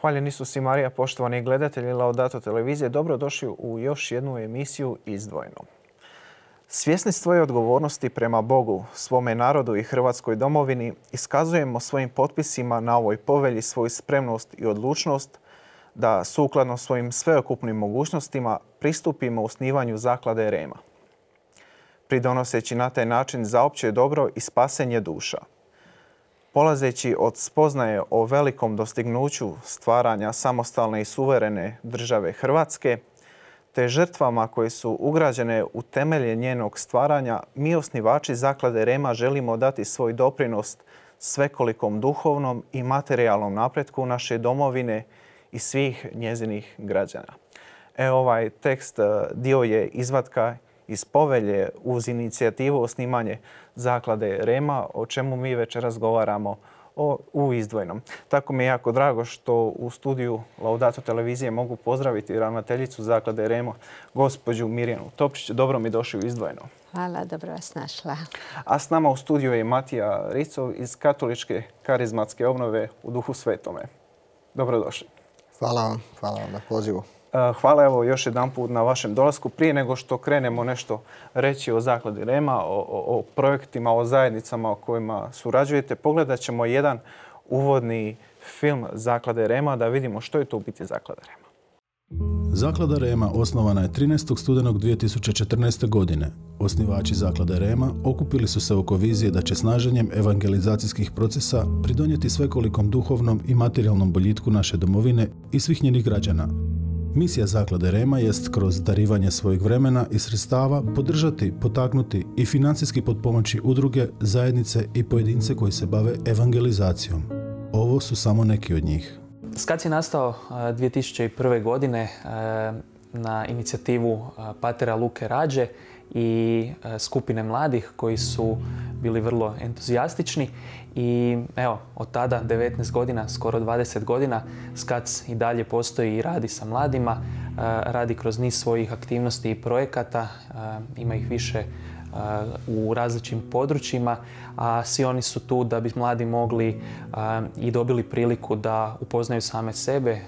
Hvaljen Isus i Marija, poštovani gledatelji Laudato televizije, dobrodošli u još jednu emisiju Izdvojeno. Svjesni svoje odgovornosti prema Bogu, svome narodu i Hrvatskoj domovini, iskazujemo svojim potpisima na ovoj povelji svoju spremnost i odlučnost da sukladno svojim sveokupnim mogućnostima pristupimo osnivanju zaklade Rema, pridonoseći na taj način za opće dobro i spasenje duša. Polazeći od spoznaje o velikom dostignuću stvaranja samostalne i suverene države Hrvatske, te žrtvama koje su ugrađene u temelje njenog stvaranja, mi osnivači zaklade Rema želimo dati svoj doprinos svekolikom duhovnom i materijalnom napretku naše domovine i svih njezinih građana. Ovaj tekst dio je izvatka iz povelje uz inicijativu osnivanje zaklade Rema, o čemu mi već razgovaramo u Izdvojenom. Tako mi je jako drago što u studiju Laudato televizije mogu pozdraviti ravnateljicu zaklade Rema, gospođu Mirjanu Topčić. Dobro mi došli u Izdvojeno. Hvala, dobro vas našla. A s nama u studiju je Matija Ricov iz Katoličke karizmatske obnove u Duhu Svetome. Dobrodošli. Hvala vam na pozivu. Hvala još jedan put na vašem dolasku. Prije nego što krenemo nešto reći o zakladi Rema, o projektima, o zajednicama o kojima surađujete, pogledat ćemo jedan uvodni film zaklade Rema da vidimo što je to u biti zaklada Rema. Zaklada Rema osnovana je 13. studenog 2014. godine. Osnivači zaklade Rema okupili su se oko vizije da će snaženjem evangelizacijskih procesa pridonijeti svekolikom duhovnom i materijalnom boljitku naše domovine i svih njenih građana. Misija zaklade Rema jest kroz darivanje svojeg vremena i sredstava podržati, potaknuti i financijski potpomoći udruge, zajednice i pojedince koji se bave evangelizacijom. Ovo su samo neki od njih. SKAC je nastao 2001. godine na inicijativu patera Luke Rađe i skupine mladih koji su bili vrlo entuzijastični i evo, od tada 19 godina, skoro 20 godina, SKAC i dalje postoji i radi sa mladima, radi kroz niz svojih aktivnosti i projekata, ima ih više u različitim područjima, a svi oni su tu da bi mladi mogli i dobili priliku da upoznaju same sebe,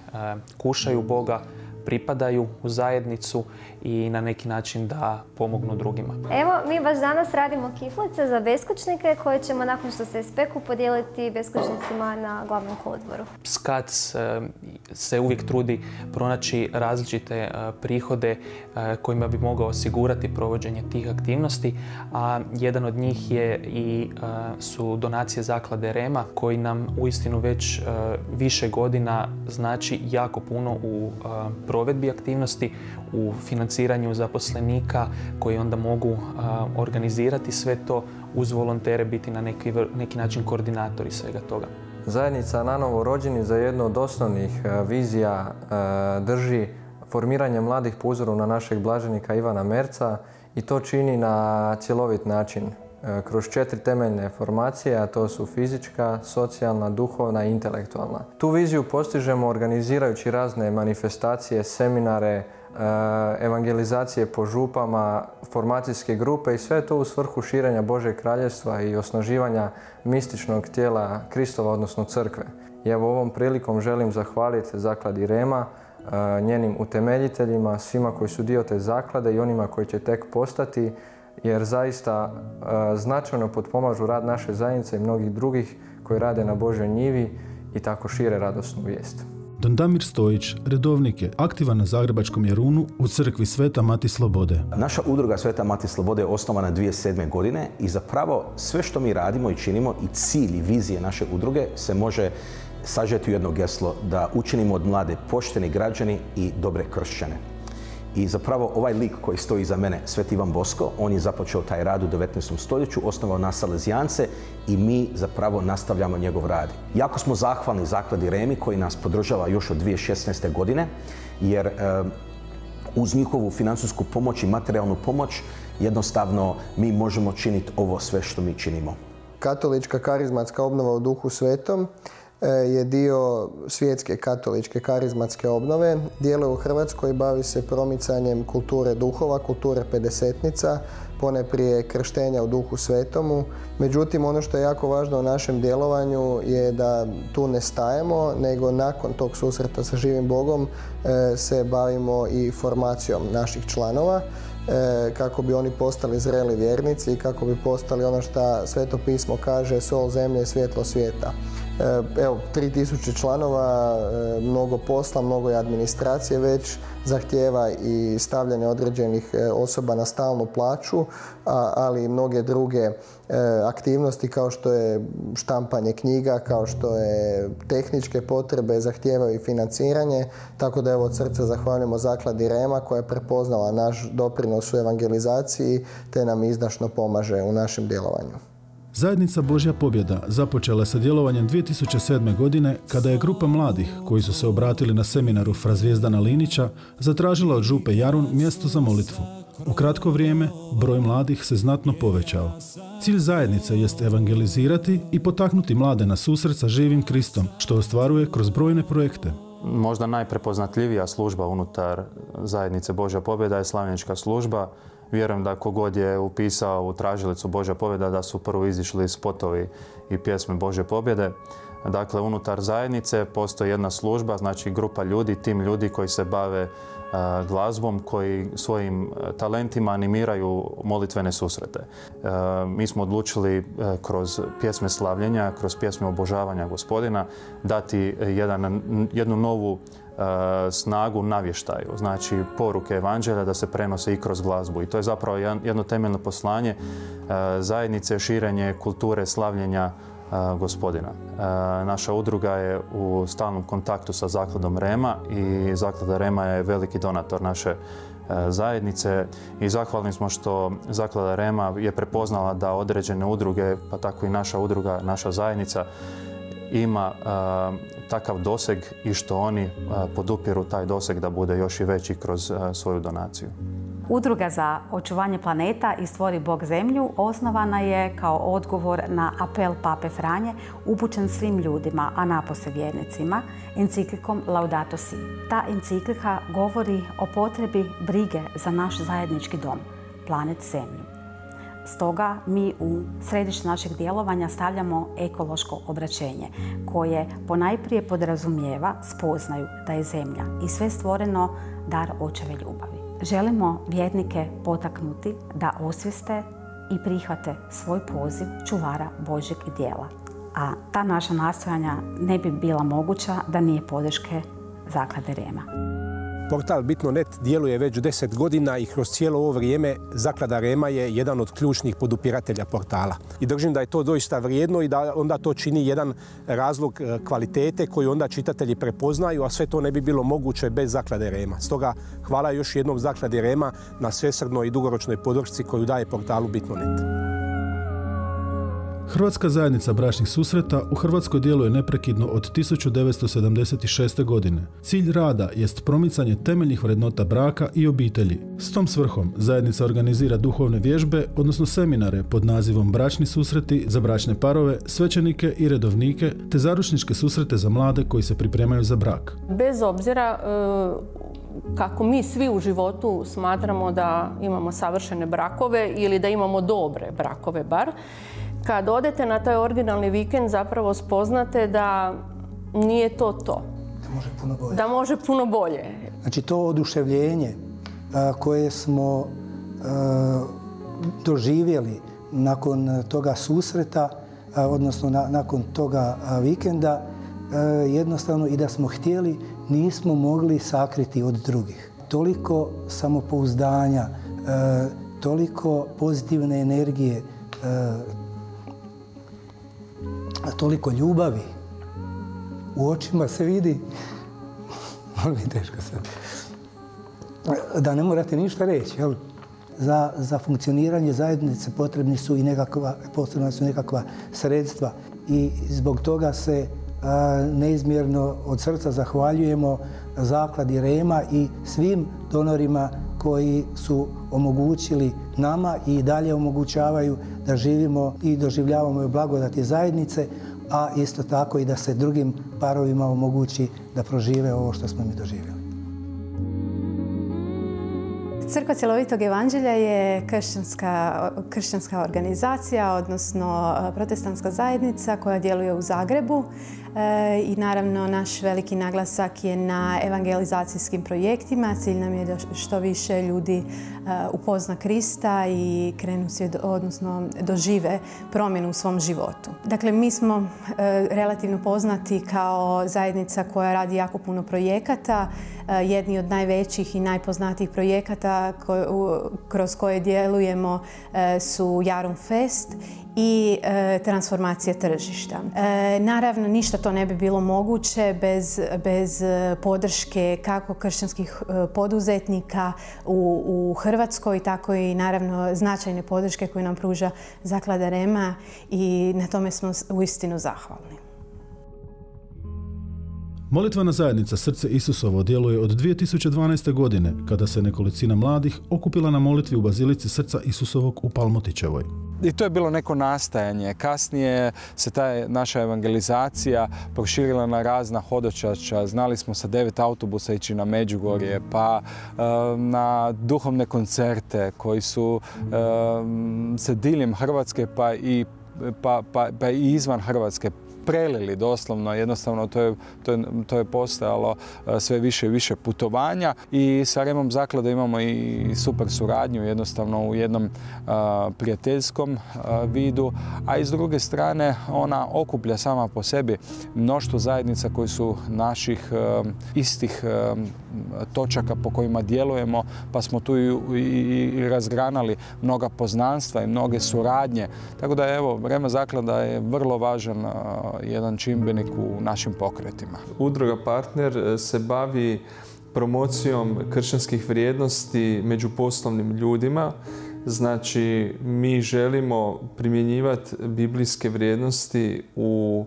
kušaju Boga, pripadaju u zajednicu i na neki način da pomognu drugima. Evo, mi baš danas radimo kiflice za beskućnike koje ćemo nakon što se ispeku podijeliti beskućnicima na glavnom kolodvoru. SKAC se uvijek trudi pronaći različite prihode kojima bi mogao osigurati provođenje tih aktivnosti, a jedan od njih je su donacije zaklade Rema koji nam uistinu već više godina znači jako puno u provedbi aktivnosti, u financiranju zaposlenika koji onda mogu organizirati sve to uz volontere, biti na neki način koordinatori svega toga. Zajednica Nanovo rođeni za jednu od osnovnih vizija drži formiranje mladih po uzoru na našeg blaženika Ivana Merca i to čini na cjelovit način. Kroz 4 temeljne formacije, a to su fizička, socijalna, duhovna i intelektualna. Tu viziju postižemo organizirajući razne manifestacije, seminare, evangelizacije po župama, formacijske grupe i sve to u svrhu širenja Božeg kraljevstva i osnaživanja mističnog tijela Kristova, odnosno crkve. I evo ovom prilikom želim zahvaliti zakladi Rema, njenim utemeljiteljima, svima koji su dio te zaklade i onima koji će tek postati, jer zaista značajno potpomažu rad naše zajednice i mnogih drugih koji rade na Božoj njivi i tako šire radosnu vijest. Don Damir Stojić, redovnik je, aktivan na Zagrebačkom Jarunu u crkvi Sveta Mati Slobode. Naša udruga Sveta Mati Slobode je osnovana 2007. godine i zapravo sve što mi radimo i činimo i cilj i vizije naše udruge se može sažeti u jedno geslo da učinimo od mlade pošteni građani i dobre kršćane. I zapravo ovaj lik koji stoji iza mene, Sveti Ivan Bosko, on je započeo taj rad u 19. stoljeću, osnovao nas Salezijance i mi zapravo nastavljamo njegov rad. Jako smo zahvalni zakladi Remi koji nas podržava još od 2016. godine, jer uz njihovu financijsku pomoć i materijalnu pomoć jednostavno mi možemo činiti ovo sve što mi činimo. Katolička karizmatska obnova u Duhu Svetom je dio svjetske katoličke karizmatske obnove. Djeluje u Hrvatskoj i bavi se promicanjem kulture duhova, kulture pedesetnica, poneprije krštenja u Duhu Svetomu. Međutim, ono što je jako važno u našem djelovanju je da tu ne stajemo, nego nakon tog susreta sa živim Bogom se bavimo i formacijom naših članova, kako bi oni postali zreli vjernici i kako bi postali ono što Sveto pismo kaže, sol zemlje, svjetlo svijeta. Evo, 3000 članova, mnogo posla, mnogo je administracije već, zahtijeva i stavljanje određenih osoba na stalnu plaću, ali i mnoge druge aktivnosti kao što je štampanje knjiga, kao što je tehničke potrebe, zahtijevaju i financiranje. Tako da evo od srca zahvaljujemo Zakladi Rema koja je prepoznala naš doprinos u evangelizaciji te nam izdašno pomaže u našem djelovanju. Zajednica Božja pobjeda započela sa djelovanjem 2007. godine kada je grupa mladih koji su se obratili na seminaru Fra Zvijezdana Linića zatražila od župe Jarun mjesto za molitvu. U kratko vrijeme broj mladih se znatno povećao. Cilj zajednice jest evangelizirati i potaknuti mlade na susret sa živim Kristom, što ostvaruje kroz brojne projekte. Možda najprepoznatljivija služba unutar Zajednice Božja pobjeda je slavljenička služba. Vjerujem da kogod je upisao u tražilicu Božja pobjeda da su prvo izišli spotovi i pjesme Božje pobjede. Dakle, unutar zajednice postoji jedna služba, znači grupa ljudi, tim ljudi koji se bave glazbom, koji svojim talentima animiraju molitvene susrete. Mi smo odlučili kroz pjesme slavljenja, kroz pjesme obožavanja Gospodina dati jednu novu snagu navještaju, znači poruke evanđelja da se prenose i kroz glazbu. I to je zapravo jedno temeljno poslanje zajednice, širenje kulture slavljenja Gospodina. Naša udruga je u stalnom kontaktu sa Zakladom Rema i Zaklada Rema je veliki donator naše zajednice i zahvalni smo što Zaklada Rema je prepoznala da određene udruge, pa tako i naša udruga, naša zajednica, ima takav doseg i što oni podupiru taj doseg da bude još i veći kroz svoju donaciju. Udruga za očuvanje planeta i Stvori Bog zemlju osnovana je kao odgovor na apel Pape Franje upućen svim ljudima, a napose vjernicima, enciklikom Laudato Si. Ta enciklika govori o potrebi brige za naš zajednički dom, planet Zemlju. Stoga mi u središte našeg djelovanja stavljamo ekološko obraćenje koje ponajprije podrazumijeva spoznaju da je Zemlja i sve stvoreno dar očeve ljubavi. Želimo vjernike potaknuti da osvijeste i prihvate svoj poziv čuvara Božjeg djela. A ta naša nastojanja ne bi bila moguća da nije podrške Zaklade Rema. Portal Bitno.net djeluje već 10 godina i kroz cijelo ovo vrijeme Zaklada Rema je jedan od ključnih podupiratelja portala. I držim da je to doista vrijedno i da onda to čini jedan razlog kvalitete koju onda čitatelji prepoznaju, a sve to ne bi bilo moguće bez Zaklade Rema. Stoga hvala još jednom Zakladi Rema na svesrdnoj i dugoročnoj podršci koju daje portalu Bitno.net. Hrvatska zajednica bračnih susreta u Hrvatskoj djeluje neprekidno od 1976. godine. Cilj rada jest promicanje temeljnih vrednota braka i obitelji. S tom svrhom zajednica organizira duhovne vježbe, odnosno seminare pod nazivom Bračni susreti za bračne parove, svećenike i redovnike, te zaručničke susrete za mlade koji se pripremaju za brak. Bez obzira kako mi svi u životu smatramo da imamo savršene brakove ili da imamo dobre brakove bar, kad odete na taj originalni vikend zapravo spoznate da nije to to. Da može puno bolje. Da može puno bolje. Znači to oduševljenje koje smo doživjeli nakon toga susreta, odnosno nakon toga vikenda, jednostavno i da smo htjeli, nismo mogli sakriti od drugih. Toliko samopouzdanja, toliko pozitivne energije, toliko ljubavi. U očima se vidi, teško sad, da ne morate ništa reći. Jel? Za funkcioniranje zajednice potrebna su nekakva sredstva i zbog toga se neizmjerno od srca zahvaljujemo Zakladi Rema i svim donorima koji su omogućili nama i dalje omogućavaju da živimo i doživljavamo blagodati zajednice a isto tako i da se drugim parovima omogući da prožive ovo što smo mi doživjeli. Crkva cjelovitog evanđelja je kršćanska organizacija, odnosno protestantska zajednica koja djeluje u Zagrebu i naravno naš veliki naglasak je na evangelizacijskim projektima. Cilj nam je da što više ljudi upozna Krista i odnosno dožive promjenu u svom životu. Dakle, mi smo relativno poznati kao zajednica koja radi jako puno projekata. Jedni od najvećih i najpoznatijih projekata kroz koje djelujemo su Jarum Fest i transformacija tržišta. Naravno, ništa to ne bi bilo moguće bez podrške kako kršćanskih poduzetnika u Hrvatskoj, tako i naravno značajne podrške koju nam pruža Zaklada Rema i na tome smo uistinu zahvalni. Molitvena zajednica Srce Isusovo djeluje od 2012. godine, kada se nekolicina mladih okupila na molitvi u Bazilici Srca Isusovog u Palmotićevoj. I to je bilo neko nastajanje. Kasnije se ta naša evangelizacija proširila na razna hodočašća. Znali smo sa 9 autobusa ići na Međugorje, pa na duhovne koncerte koji su se diljem Hrvatske pa i izvan Hrvatske prelili doslovno. Jednostavno to je postojalo sve više i više putovanja i sa Remom zaklade imamo i super suradnju jednostavno u jednom prijateljskom vidu, a i s druge strane ona okuplja sama po sebi mnoštvo zajednica koji su naših istih točaka po kojima djelujemo, pa smo tu i razgranali mnoga poznanstva i mnoge suradnje. Tako da evo, Rema zaklada je vrlo važan jedan čimbenik u našim pokretima. Udruga Partner se bavi promocijom kršćanskih vrijednosti među poslovnim ljudima. Znači, mi želimo primjenjivati biblijske vrijednosti u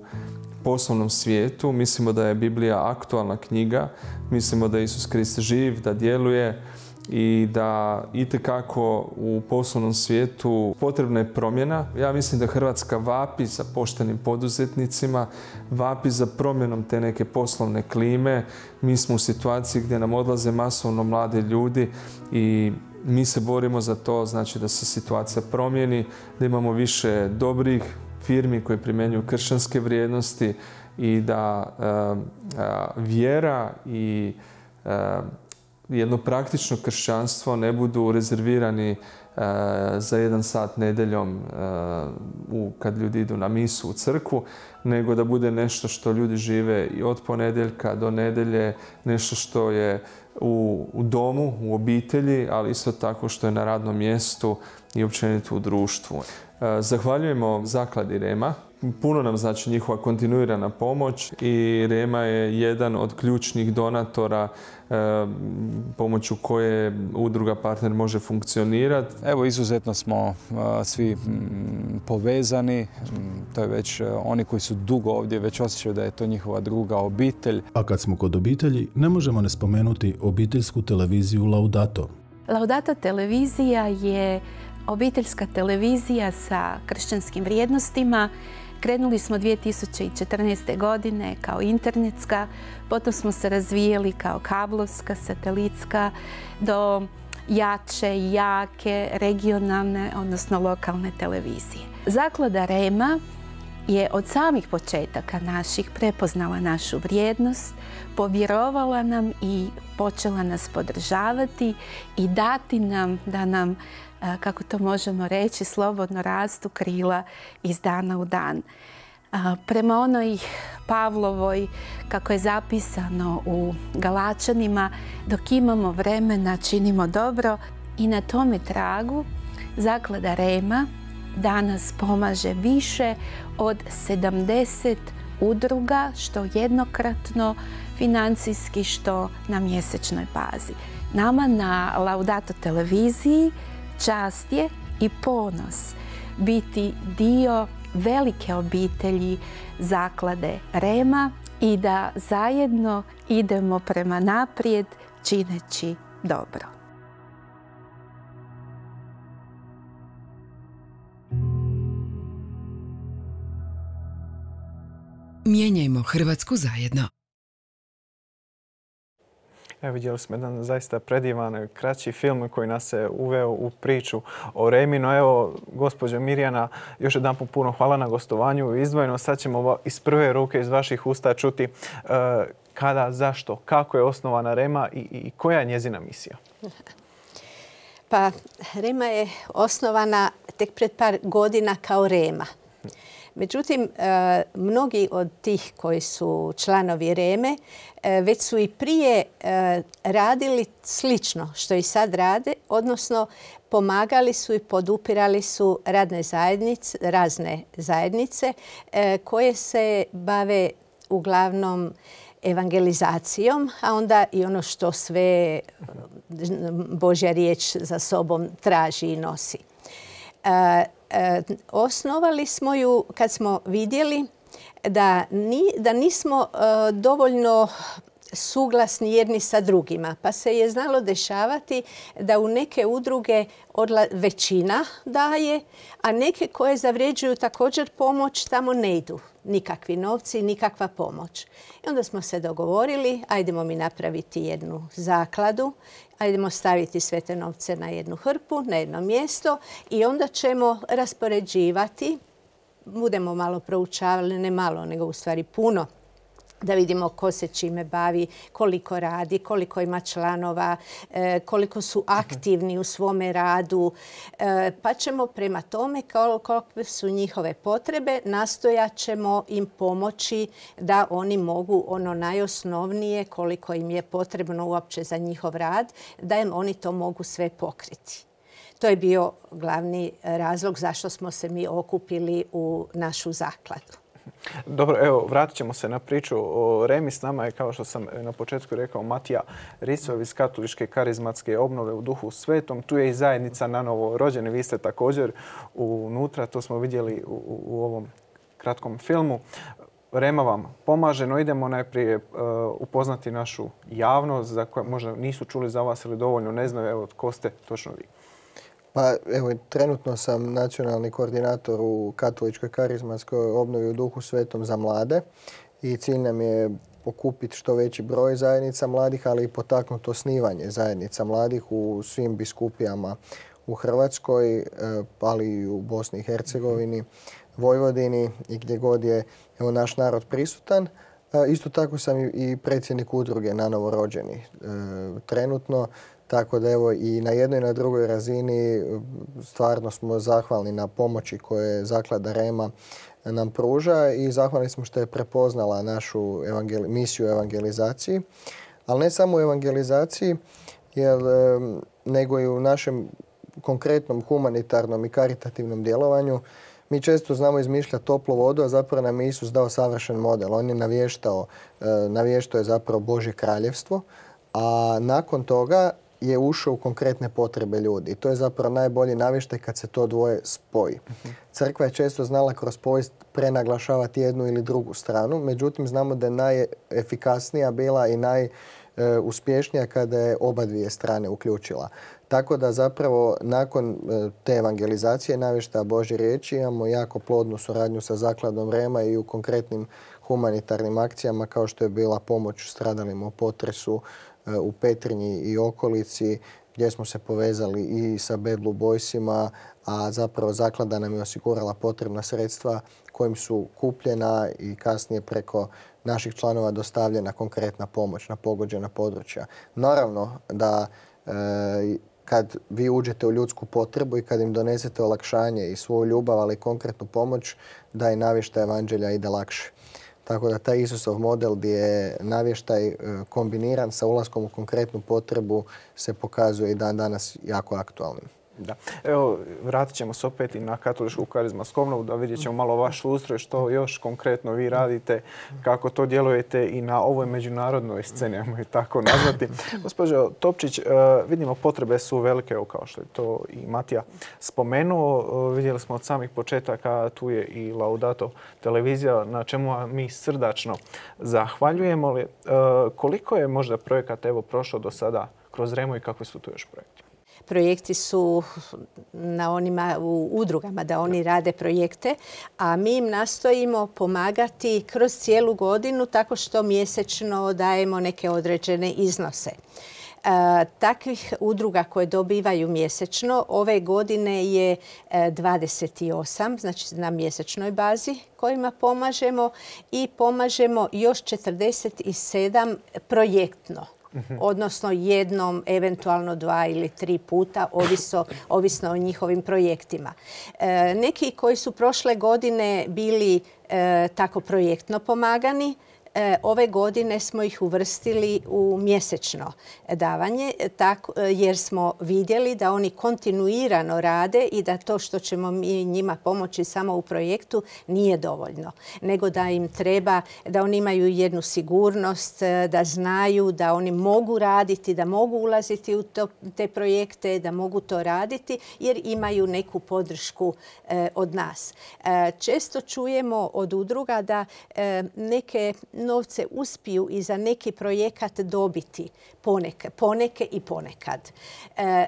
poslovnom svijetu. Mislimo da je Biblija aktualna knjiga. Mislimo da je Isus Krist živ, da djeluje i da itekako u poslovnom svijetu potrebna je promjena. Ja mislim da Hrvatska vapi za poštenim poduzetnicima, vapi za promjenom te neke poslovne klime. Mi smo u situaciji gdje nam odlaze masovno mladi ljudi i mi se borimo za to, znači da se situacija promijeni, da imamo više dobrih firmi koje primjenjuju kršćanske vrijednosti i da vjera i jedno praktično kršćanstvo ne budu rezervirani za 1 sat nedeljom kad ljudi idu na misu u crkvu, nego da bude nešto što ljudi žive i od ponedjeljka do nedjelje, nešto što je u domu, u obitelji, ali isto tako što je na radnom mjestu i općenito u društvu. Zahvaljujemo Zakladi Rema. Puno nam znači njihova kontinuirana pomoć i Rema je jedan od ključnih donatora pomoću koje Udruga Partner može funkcionirati. Evo, izuzetno smo svi povezani. To je već oni koji su dugo ovdje već osjećaju da je to njihova druga obitelj. A kad smo kod obitelji, ne možemo ne spomenuti obiteljsku televiziju Laudato. Laudato televizija je obiteljska televizija sa kršćanskim vrijednostima. Krenuli smo 2014. godine kao internetska, potom smo se razvijeli kao kablovska, satelitska, do jače i jake regionalne, odnosno lokalne televizije. Zaklada Rema je od samih početaka naših prepoznala našu vrijednost, povjerovala nam i počela nas podržavati i dati nam da nam, kako to možemo reći, slobodno rastu krila iz dana u dan. Prema onoj Pavlovoj, kako je zapisano u Galačanima, dok imamo vremena činimo dobro, i na tome tragu Zaklada Rema danas pomaže više od 70 udruga, što jednokratno, financijski, što na mjesečnoj bazi. Nama na Laudato televiziji čast je i ponos biti dio velike obitelji Zaklade Rema i da zajedno idemo prema naprijed čineći dobro. Gledamo Hrvatsku zajedno. Evo, vidjeli smo jedan zaista predivan, kraći film koji nas je uveo u priču o Remi. No evo, gospođo Mirjana, još jedan puno hvala na gostovanju. Izdvojeno sad ćemo iz prve ruke iz vaših usta čuti kada, zašto, kako je osnovana Rema i koja je njezina misija. Pa, Rema je osnovana tek pred par godina kao Rema. Međutim, mnogi od tih koji su članovi Reme već su i prije radili slično što i sad rade, odnosno pomagali su i podupirali su razne zajednice koje se bave uglavnom evangelizacijom, a onda i ono što sve Božja riječ za sobom traži i nosi. Osnovali smo ju kad smo vidjeli da nismo dovoljno suglasni jedni sa drugima. Pa se je znalo dešavati da u neke udruge većina daje, a neke koje zavređuju također pomoć tamo ne idu nikakvi novci, nikakva pomoć. I onda smo se dogovorili, ajdemo mi napraviti jednu zakladu, ajdemo staviti sve te novce na jednu hrpu, na jedno mjesto i onda ćemo raspoređivati, budemo malo proučavali, ne malo, nego u stvari puno, da vidimo ko se čime bavi, koliko radi, koliko ima članova, koliko su aktivni u svome radu. Pa ćemo prema tome, kakve su njihove potrebe, nastojat ćemo im pomoći da oni mogu ono najosnovnije, koliko im je potrebno uopće za njihov rad, da im oni to mogu sve pokriti. To je bio glavni razlog zašto smo se mi okupili u našu zakladu. Dobro, evo, vratit ćemo se na priču o Remi. S nama je, kao što sam na početku rekao, Matija Ricov iz Katoličke karizmatske obnove u Duhu Svetom. Tu je i zajednica na novo rođeni. Vi ste također unutra, to smo vidjeli u ovom kratkom filmu. Rema vam pomaže, no idemo najprije upoznati našu javnost za koje možda nisu čuli za vas ili dovoljno ne znaju. Evo, tko ste točno vi? Pa evo, trenutno sam nacionalni koordinator u Katoličkoj karizmatskoj obnovi u Duhu Svetom za mlade i cilj nam je okupiti što veći broj zajednica mladih, ali i potaknuti osnivanje zajednica mladih u svim biskupijama u Hrvatskoj, ali i u Bosni i Hercegovini, Vojvodini i gdje god je naš narod prisutan. Isto tako sam i predsjednik udruge na novorođeni trenutno. Tako da evo i na jednoj i na drugoj razini stvarno smo zahvalni na pomoći koje Zaklada Rema nam pruža i zahvalni smo što je prepoznala našu misiju evangelizaciji. Ali ne samo u evangelizaciji, nego i u našem konkretnom humanitarnom i karitativnom djelovanju. Mi često znamo izmišljati toplu vodu, a zapravo nam je Isus dao savršen model. On je navještao je zapravo Božje kraljevstvo, a nakon toga je ušao u konkretne potrebe ljudi. I to je zapravo najbolji navještaj kad se to dvoje spoji. Crkva je često znala kroz povijest prenaglašavati jednu ili drugu stranu, međutim znamo da je najefikasnija bila i najuspješnija kada je oba dvije strane uključila. Tako da zapravo nakon te evangelizacije navještaja Božje riječi imamo jako plodnu suradnju sa Zakladom Rema i u konkretnim humanitarnim akcijama kao što je bila pomoć stradalima u potresu u Petrinji i okolici, gdje smo se povezali i sa Bad Blue Boysima, a zapravo zaklada nam je osigurala potrebna sredstva kojim su kupljena i kasnije preko naših članova dostavljena konkretna pomoć na pogođena područja. Naravno da kad vi uđete u ljudsku potrebu i kad im donesete olakšanje i svoju ljubav, ali i konkretnu pomoć, da i navještaj evanđelja ide lakše. Tako da taj Isusov model gdje je navještaj kombiniran sa ulaskom u konkretnu potrebu se pokazuje i dan danas jako aktualnim. Da. Evo, vratit ćemo se opet i na Katoličku karizmatsku obnovu da vidjet ćemo malo vaš ustroj, što još konkretno vi radite, kako to djelujete i na ovoj međunarodnoj sceni, ajmo je tako nazvati. Gospođo Topčić, vidimo potrebe su velike, kao što je to i Matija spomenuo. Vidjeli smo od samih početaka, tu je i Laudato televizija, na čemu mi srdačno zahvaljujemo. Koliko je možda projekata prošlo do sada kroz Remu i kakvi su tu još projekti? Projekti su na onima u udrugama da oni rade projekte, a mi im nastojimo pomagati kroz cijelu godinu tako što mjesečno dajemo neke određene iznose. Takvih udruga koje dobivaju mjesečno ove godine je 28, znači na mjesečnoj bazi kojima pomažemo i pomažemo još 47 projektno. Odnosno jednom, eventualno 2 ili 3 puta, ovisno o njihovim projektima. Neki koji su prošle godine bili tako projektno pomagani, ove godine smo ih uvrstili u mjesečno davanje jer smo vidjeli da oni kontinuirano rade i da to što ćemo mi njima pomoći samo u projektu nije dovoljno. Nego da im treba, da oni imaju jednu sigurnost, da znaju da oni mogu raditi, da mogu ulaziti u te projekte, da mogu to raditi jer imaju neku podršku od nas. Često čujemo od udruga da neke novce uspiju i za neki projekat dobiti poneke i ponekad.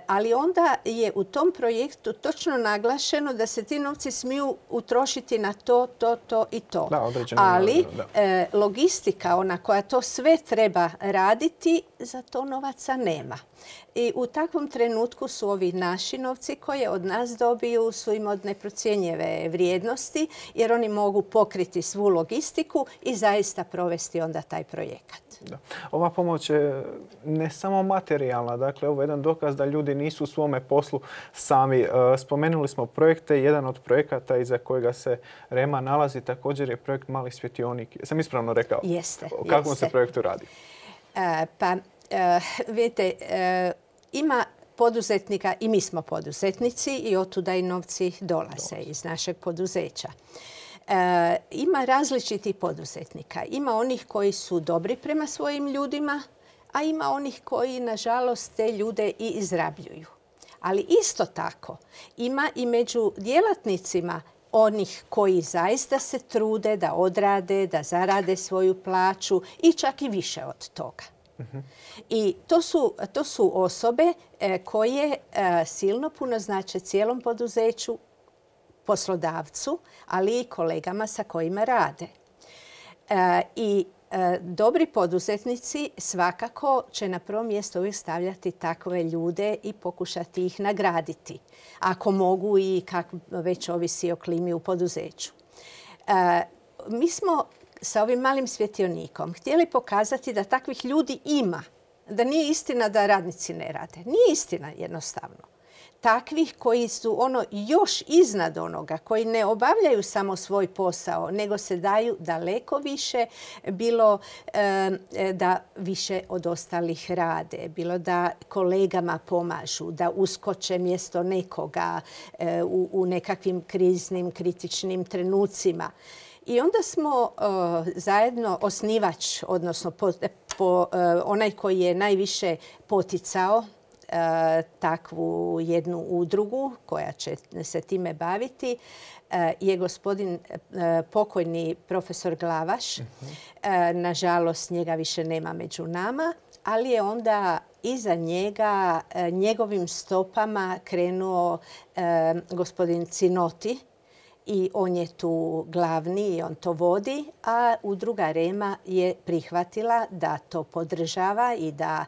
Ali onda je u tom projektu točno naglašeno da se ti novci smiju utrošiti na to i to. Ali logistika, ona koja to sve treba raditi, za to novaca nema. I u takvom trenutku su ovi naši novci koje od nas dobiju su im od neprocjenjive vrijednosti jer oni mogu pokriti svu logistiku i zaista provesti onda taj projekat. Da. Ova pomoć je ne samo materijalna, dakle ovo je jedan dokaz da ljudi nisu u svome poslu sami. Spomenuli smo projekte, jedan od projekata iza kojega se Rema nalazi također je projekt Mali svjetionik. Sam ispravno rekao? Jeste. O kakvom se projektu radi? Vidite, ima poduzetnika i mi smo poduzetnici i otuda i novci dolaze iz našeg poduzeća. Ima različitih poduzetnika. Ima onih koji su dobri prema svojim ljudima, a ima onih koji, nažalost, te ljude i izrabljuju. Ali isto tako ima i među djelatnicima onih koji zaista se trude da odrade, da zarade svoju plaću i čak i više od toga. I to su osobe koje silno puno znače cijelom poduzeću, poslodavcu, ali i kolegama sa kojima rade. I dobri poduzetnici svakako će na prvo mjesto uvijek stavljati takve ljude i pokušati ih nagraditi. Ako mogu i kako već ovisi o klimi u poduzeću. Mi smo sa ovim malim svjetionikom htjeli pokazati da takvih ljudi ima. Da nije istina da radnici ne rade. Nije istina jednostavno. Takvih koji su još iznad onoga, koji ne obavljaju samo svoj posao, nego se daju daleko više, bilo da više od ostalih rade, bilo da kolegama pomažu, da uskoče mjesto nekoga u nekakvim kriznim, kritičnim trenucima. I onda smo zajedno osnivač, odnosno onaj koji je najviše poticao takvu jednu udrugu koja će se time baviti je gospodin pokojni profesor Glavaš. Nažalost, njega više nema među nama, ali je onda iza njega njegovim stopama krenuo gospodin Cinoti. I on je tu glavni i on to vodi, a udruga Rema je prihvatila da to podržava i da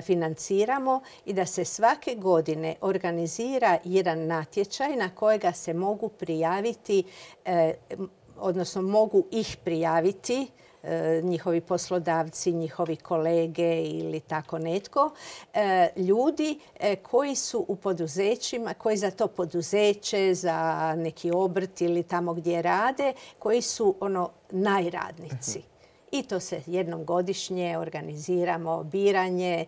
financiramo i da se svake godine organizira jedan natječaj na kojega se mogu prijaviti, odnosno mogu ih prijaviti njihovi poslodavci, njihovi kolege ili tako netko, ljudi koji su u poduzećima, koji za to poduzeće, za neki obrt ili tamo gdje rade, koji su najradnici. I to se jednom godišnje organiziramo biranje,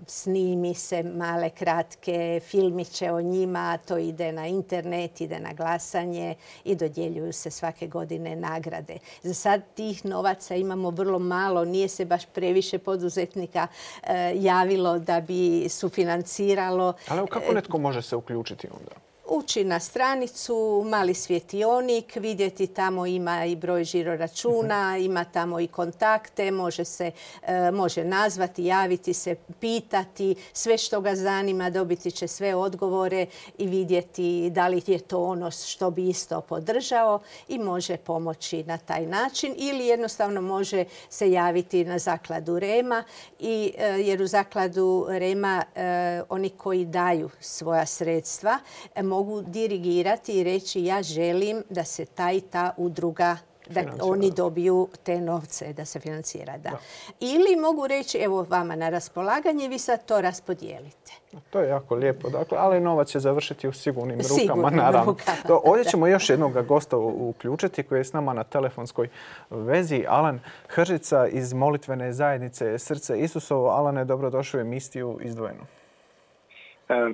snimi se male kratke filmiće o njima, to ide na internet, ide na glasanje i dodjeljuju se svake godine nagrade. Za sad tih novaca imamo vrlo malo, nije se baš previše poduzetnika javilo da bi sufinanciralo. Ali kako netko može se uključiti onda? ući na stranicu, mali svjetionik, vidjeti tamo ima i broj žiroračuna, ima tamo i kontakte, može nazvati, javiti se, pitati, sve što ga zanima, dobiti će sve odgovore i vidjeti da li je to ono što bi isto podržao i može pomoći na taj način ili jednostavno može se javiti na zakladu Rema jer u zakladu Rema oni koji daju svoja sredstva mogu dirigirati i reći ja želim da se ta i ta udruga, da oni dobiju te novce da se financira. Da. Ili mogu reći evo vama na raspolaganje, vi sad to raspodijelite. To je jako lijepo, dakle, ali novac će završiti u sigurnim rukama, naravno. Ovdje ćemo još jednog gosta uključiti koji je s nama na telefonskoj vezi. Alan Hržica iz molitvene zajednice Srce Isusovo. Alane, dobrodošli u emisiju Izdvojeno.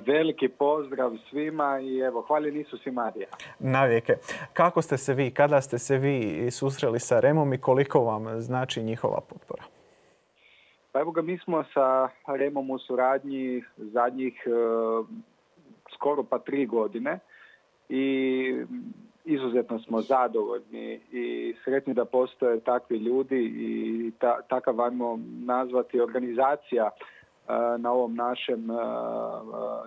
Veliki pozdrav svima i evo, hvaljen Isus i Marija. Navijeke. Kako ste se vi, kada ste se vi susreli sa Remom i koliko vam znači njihova potpora? Pa evo ga, mi smo sa Remom u suradnji zadnjih skoro pa 3 godine i izuzetno smo zadovoljni i sretni da postoje takvi ljudi i takav, ajmo nazvati, organizacija na ovom našem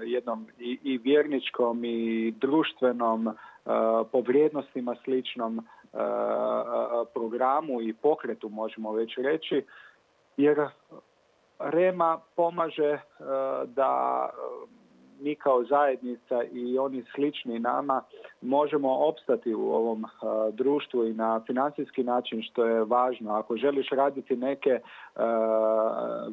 jednom i vjerničkom i društvenom, po vrijednostima sličnom programu i pokretu, možemo već reći, jer Rema pomaže da mi kao zajednica i oni slični nama možemo opstati u ovom društvu i na financijski način, što je važno. Ako želiš raditi neke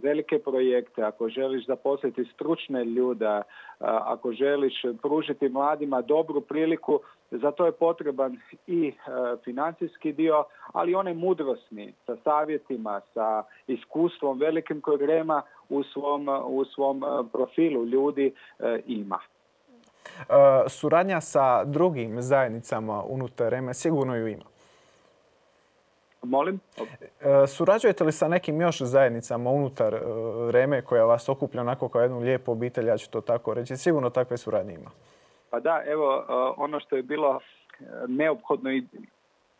velike projekte, ako želiš zaposliti stručne ljude, ako želiš pružiti mladima dobru priliku, za to je potreban i financijski dio, ali onaj mudrosni, sa savjetima, sa iskustvom velikim kojeg Rema u svom profilu ljudi ima. Suradnja sa drugim zajednicama unutar Reme sigurno ju ima. Molim? Surađujete li sa nekim još zajednicama unutar Reme koja vas okuplja onako kao jednu lijepu obitelj, ja ću to tako reći? Sigurno takve suradnje ima. Pa da, evo, ono što je bilo neophodno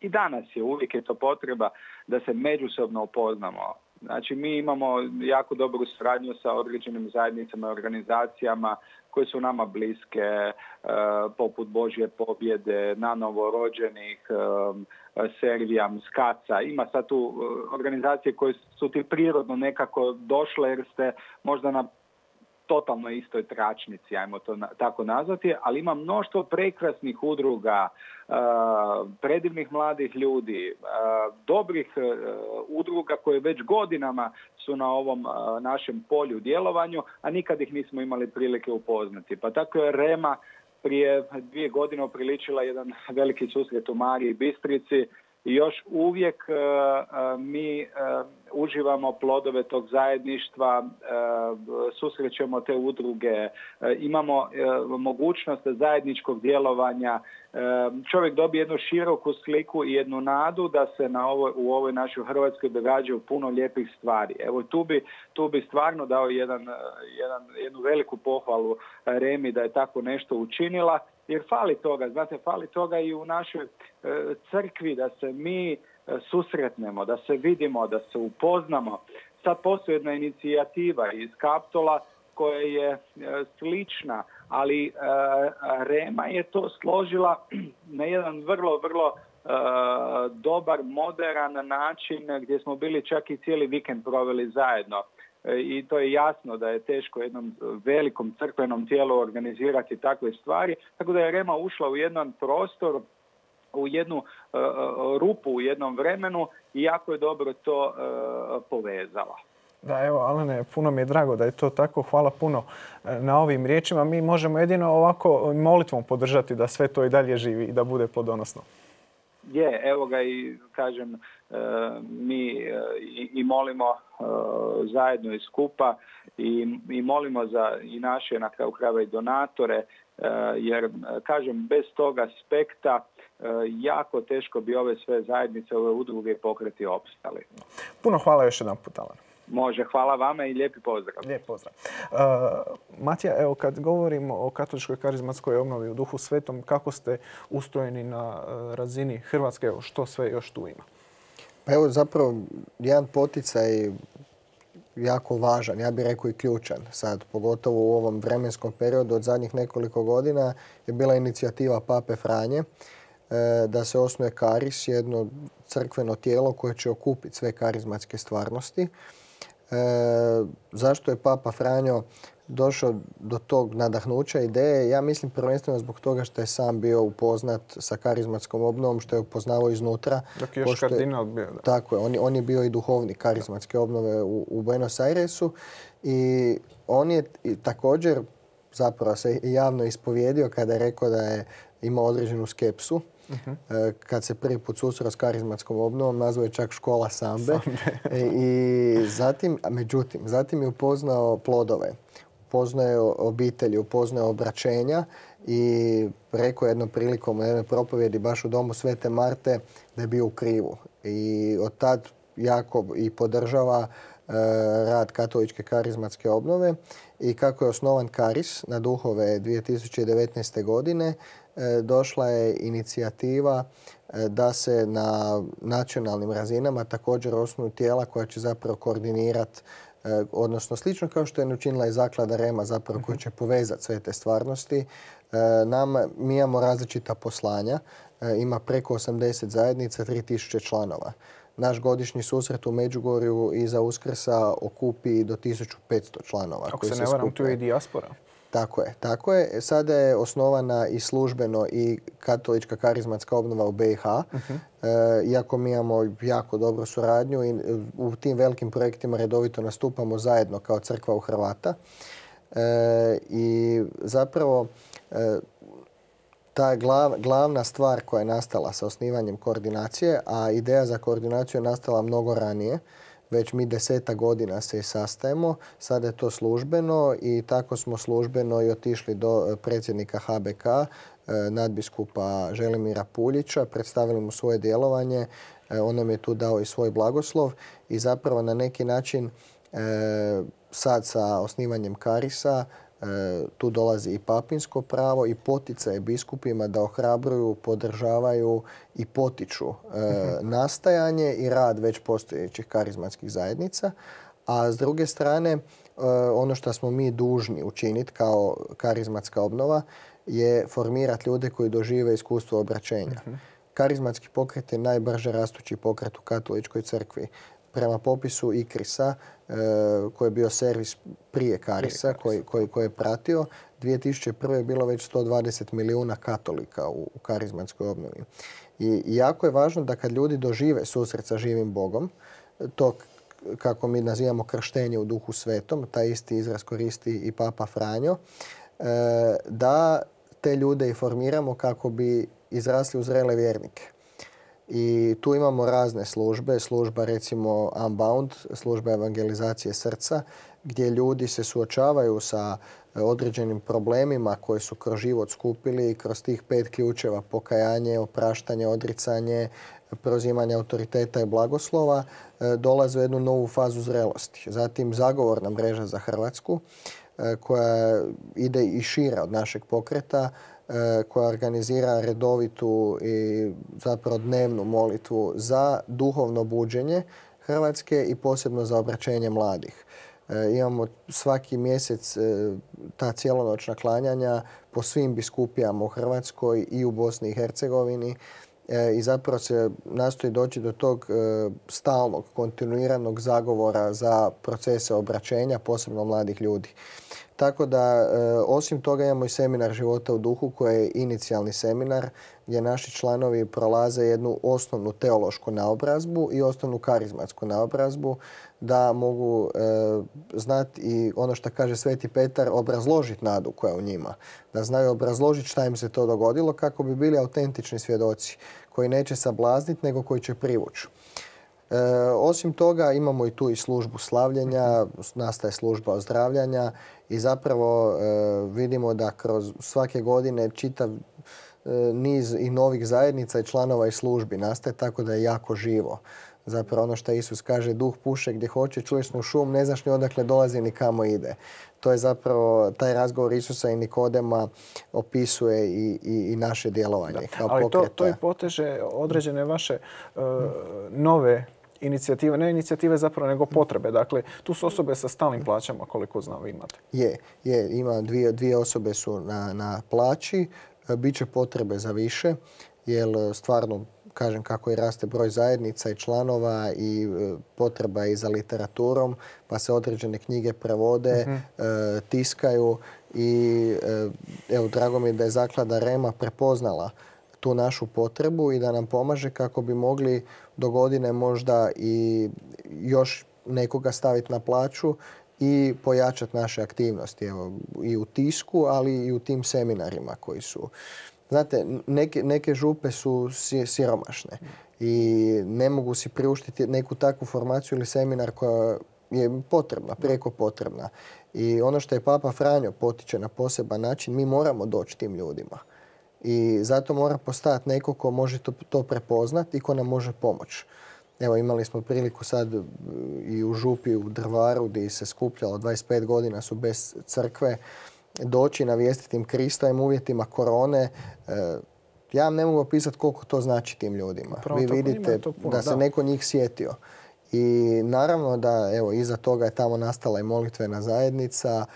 i danas je, uvijek je to potreba da se međusobno upoznamo. Znači, mi imamo jako dobru suradnju sa određenim zajednicama i organizacijama koje su nama bliske, poput Božje pobjede, na novorođenih, Servijam, Skaca. Ima sad tu organizacije koje su ti prirodno nekako došle jer ste možda na totalno istoj tračnici, ajmo to tako nazvati, ali ima mnoštvo prekrasnih udruga, predivnih mladih ljudi, dobrih udruga koje već godinama su na ovom našem polju djelovanju, a nikad ih nismo imali prilike upoznati. Pa tako je Rema prije 2 godine upriličila jedan veliki susret u Mariji Bistrici i još uvijek mi uživamo plodove tog zajedništva, susrećemo te udruge, imamo mogućnost zajedničkog djelovanja. Čovjek dobije jednu široku sliku i jednu nadu da se u ovoj našoj Hrvatskoj događaju puno lijepih stvari. Evo tu bi stvarno dao jednu veliku pohvalu Remi da je tako nešto učinila, jer fali toga, znate, fali toga i u našoj crkvi da se mi susretnemo, da se vidimo, da se upoznamo. Sad postoji jedna inicijativa iz Kaptola koja je slična, ali Rema je to složila na jedan vrlo, vrlo dobar, moderan način gdje smo bili čak i cijeli vikend proveli zajedno. I to je jasno da je teško jednom velikom crkvenom tijelu organizirati takve stvari, tako da je Rema ušla u jedan prostor, u jednu rupu u jednom vremenu i jako je dobro to povezala. Da, evo, Alene, puno mi je drago da je to tako. Hvala puno na ovim riječima. Mi možemo jedino ovako molitvom podržati da sve to i dalje živi i da bude plodonosno. Evo ga i kažem, mi i molimo zajedno i skupa i molimo za i naše na kraju krajeva i donatore, jer kažem, bez tog aspekta jako teško bi ove sve zajednice, ove udruge i pokreti opstali. Puno hvala još jedan put, Alan. Može, hvala vama i lijepi pozdrav. Lijep pozdrav. Matija, evo kad govorimo o katoličkoj karizmatskoj obnovi u Duhu Svetom, kako ste ustrojeni na razini Hrvatske, evo što sve još tu ima? Pa evo zapravo jedan poticaj jako važan, ja bih rekao i ključan sad, pogotovo u ovom vremenskom periodu od zadnjih nekoliko godina je bila inicijativa Pape Franje da se osnuje Karis, jedno crkveno tijelo koje će okupiti sve karizmatske stvarnosti. Zašto je Papa Franjo došao do tog nadahnuća ideje? Ja mislim prvenstveno zbog toga što je sam bio upoznat sa karizmatskom obnovom, što je upoznavao iznutra. Dok je još kardinal bio. Da. Tako je, on je bio i duhovnik karizmatske obnove u Buenos Airesu i on je također zapravo se javno ispovjedio kada je rekao da je imao određenu skepsu. Kad se prvi put susreo s karizmatskom obnovom, nazvao je čak škola sambe. I zatim je upoznao plodove, upoznao je obitelji, upoznao je obraćenja i rekao je jednom prilikom u jednoj propovjedi baš u domu Svete Marte da je bio u krivu. I od tad jako i podržava rad katoličke karizmatske obnove i kako je osnovan Karis na duhove 2019. godine, došla je inicijativa da se na nacionalnim razinama također osnuju tijela koja će zapravo koordinirati, odnosno slično kao što je učinila i Zaklada Rema zapravo koja će povezati sve te stvarnosti. Mi imamo različita poslanja, ima preko 80 zajednica, 3000 članova. Naš godišnji susret u Međugorju iza Uskrsa okupi do 1500 članova. Ako se ne varam, tu je i dijaspora. Tako je. Sada je osnovana i službeno i katolička karizmatska obnova u BiH. Iako mi imamo jako dobru suradnju i u tim velikim projektima redovito nastupamo zajedno kao crkva u Hrvata. I zapravo ta glavna stvar koja je nastala sa osnivanjem koordinacije, a ideja za koordinaciju je nastala mnogo ranije, već mi 10 godina se sastajemo, sada je to službeno i tako smo službeno i otišli do predsjednika HBK, nadbiskupa Želimira Puljića, predstavili mu svoje djelovanje, on nam je tu dao i svoj blagoslov i zapravo na neki način sad sa osnivanjem Karisa tu dolazi i papinsko pravo i poticaje biskupima da ohrabruju, podržavaju i potiču nastajanje i rad već postojećih karizmatskih zajednica. A s druge strane, ono što smo mi dužni učiniti kao karizmatska obnova je formirati ljude koji dožive iskustvo obraćenja. Karizmatski pokret je najbrže rastući pokret u katoličkoj crkvi. Prema popisu ICRIS-a, koji je bio servis prije Karisa, koji je pratio, 2001. je bilo već 120 milijuna katolika u karizmatskoj obnovi. I jako je važno da kad ljudi dožive susret sa živim Bogom, to kako mi nazivamo krštenje u Duhu Svetom, taj isti izraz koristi i Papa Franjo, da te ljude informiramo kako bi izrasli u zrele vjernike. I tu imamo razne službe, služba recimo Unbound, služba evangelizacije srca, gdje ljudi se suočavaju sa određenim problemima koje su kroz život skupili i kroz tih 5 ključeva pokajanje, opraštanje, odricanje, preuzimanje autoriteta i blagoslova dolaze u jednu novu fazu zrelosti. Zatim zagovorna mreža za Hrvatsku koja ide i šira od našeg pokreta, koja organizira redovitu i zapravo dnevnu molitvu za duhovno buđenje Hrvatske i posebno za obraćenje mladih. Imamo svaki mjesec ta cijelonoćna klanjanja po svim biskupijama u Hrvatskoj i u Bosni i Hercegovini i zapravo se nastoji doći do tog stalnog, kontinuiranog zagovora za procese obraćenja, posebno mladih ljudi. Tako da, osim toga imamo i seminar života u duhu koji je inicijalni seminar gdje naši članovi prolaze jednu osnovnu teološku naobrazbu i osnovnu karizmatsku naobrazbu da mogu znati i ono što kaže Sveti Petar, obrazložiti nadu koja je u njima. Da znaju obrazložiti šta im se to dogodilo kako bi bili autentični svjedoci koji neće sablazniti nego koji će privući. Osim toga imamo i tu i službu slavljenja, nastaje služba ozdravljanja i zapravo vidimo da kroz svake godine čitav niz i novih zajednica i članova i službi nastaje tako da je jako živo. Zapravo ono što Isus kaže, duh puše gdje hoće, čuješ mu šum, ne znaš ni odakle dolazi ni kamo ide. To je zapravo taj razgovor Isusa i Nikodema opisuje i naše djelovanje. Kao ali to i poteže određene vaše nove inicijative, ne inicijative zapravo, nego potrebe. Dakle, tu su osobe sa stalnim plaćama, koliko znam vi imate. Ima dvije osobe su na plaći, biće potrebe za više, jer stvarno, kažem, kako i raste broj zajednica i članova i potreba i za literaturom, pa se određene knjige prevode, tiskaju i evo, drago mi je da je Zaklada Rema prepoznala tu našu potrebu i da nam pomaže kako bi mogli do godine možda i još nekoga staviti na plaću i pojačati naše aktivnosti. Evo, i u tisku, ali i u tim seminarima koji su... Znate, neke župe su siromašne i ne mogu si priuštiti neku takvu formaciju ili seminar koja je potrebna, prijeko potrebna. I ono što je Papa Franjo potiče na poseban način, mi moramo doći tim ljudima. I zato mora postojati neko ko može to prepoznati i ko nam može pomoći. Evo, imali smo priliku sad i u župi u Drvaru gdje se skupljalo 25 godina su bez crkve, doći navijestiti im Krista im uvjetima korone. Ja vam ne mogu opisati koliko to znači tim ljudima. Vi vidite da se neko njih sjetio. I naravno da evo, iza toga je tamo nastala i molitvena zajednica.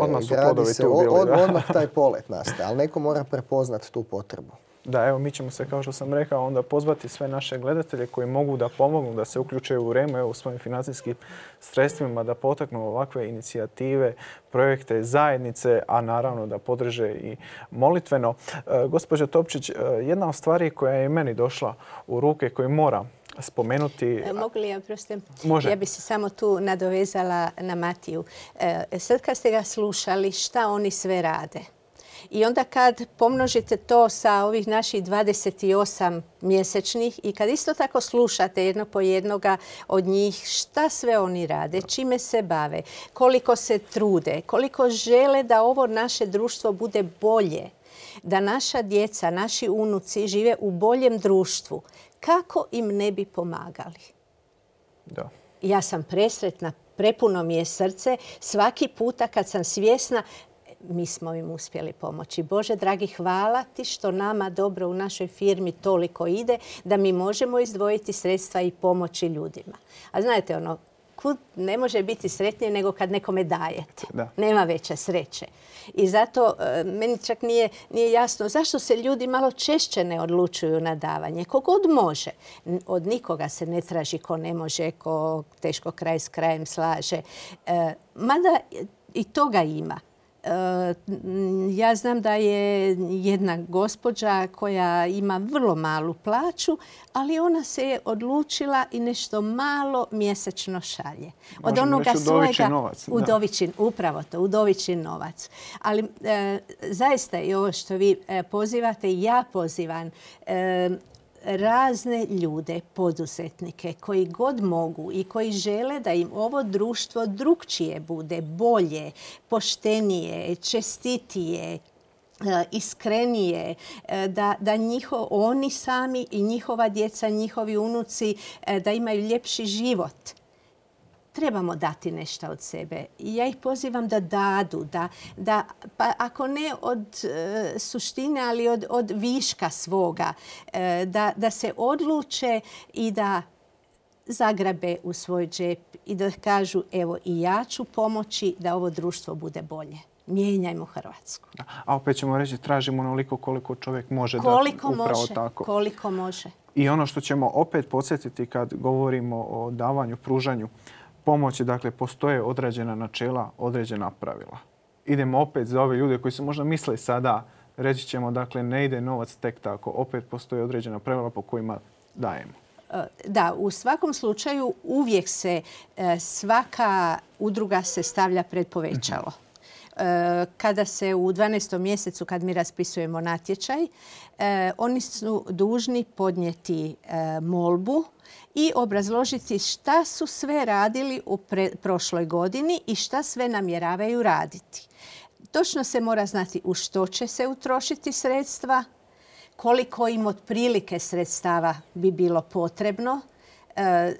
Odmah su plodovi tu bili. Odmah taj polet nastaje, ali neko mora prepoznati tu potrebu. Da, evo mi ćemo se, kao što sam rekao, onda pozvati sve naše gledatelje koji mogu da pomognu, da se uključuju u Remu, evo, u svojim financijskim sredstvima, da potaknu ovakve inicijative, projekte, zajednice, a naravno da podrže i molitveno. Gospođo Topčić, jedna od stvari koja je meni došla u ruke, koju moram spomenuti... Mogu li ja, proste? Može. Ja bi se samo tu nadovezala na Matiju. Sad kad ste ga slušali, šta oni sve rade? I onda kad pomnožite to sa ovih naših 28 mjesečnih i kad isto tako slušate jedno po jednoga od njih šta sve oni rade, čime se bave, koliko se trude, koliko žele da ovo naše društvo bude bolje, da naša djeca, naši unuci žive u boljem društvu, kako im ne bi pomagali? Da. Ja sam presretna, prepuno mi je srce svaki puta kad sam svjesna mi smo im uspjeli pomoći. Bože, dragi, hvala ti što nama dobro u našoj firmi toliko ide da mi možemo izdvojiti sredstva i pomoći ljudima. A znate, ono, kud ne može biti sretnije nego kad nekome dajete. Da. Nema veće sreće. I zato meni čak nije jasno zašto se ljudi malo češće ne odlučuju na davanje. Kogod može. Od nikoga se ne traži ko ne može, ko teško kraj s krajem slaže. Mada i toga ima. Ja znam da je jedna gospođa koja ima vrlo malu plaću, ali ona se je odlučila i nešto malo mjesečno šalje. Od onoga svojega novac. Upravo to, udovičin novac. Ali zaista i ovo što vi pozivate, ja pozivam razne ljude, poduzetnike koji god mogu i koji žele da im ovo društvo drukčije bude, bolje, poštenije, čestitije, iskrenije, da oni sami i njihova djeca, njihovi unuci da imaju ljepši život. Trebamo dati nešto od sebe. Ja ih pozivam da dadu, pa ako ne od suštine, ali od viška svoga, da se odluče i da zagrabe u svoj džep i da kažu evo i ja ću pomoći da ovo društvo bude bolje. Mijenjajmo Hrvatsku. A opet ćemo reći tražimo onoliko koliko čovjek može dati. Upravo tako. Koliko može. I ono što ćemo opet podsjetiti kad govorimo o davanju, pružanju pomoći, dakle, postoje određena načela, određena pravila. Idemo opet za ove ljude koji su možda misle sada, reći ćemo, dakle, ne ide novac tek tako. Opet postoje određena pravila po kojima dajemo. Da, u svakom slučaju uvijek se svaka udruga se stavlja pred povećalo. Kada se u 12. mjesecu, kad mi raspisujemo natječaj, oni su dužni podnijeti molbu i obrazložiti šta su sve radili u prošloj godini i šta sve namjeravaju raditi. Točno se mora znati u što će se utrošiti sredstva, koliko im otprilike sredstava bi bilo potrebno,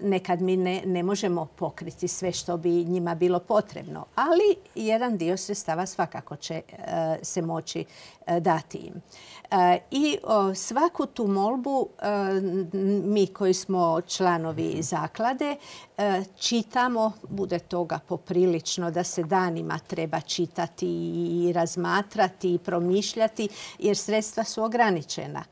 Nekad mi ne možemo pokriti sve što bi njima bilo potrebno, ali jedan dio sredstava svakako će se moći dati im. I svaku tu molbu mi koji smo članovi zaklade čitamo, bude toga poprilično da se danima treba čitati i razmatrati i promišljati jer sredstva su ograničena.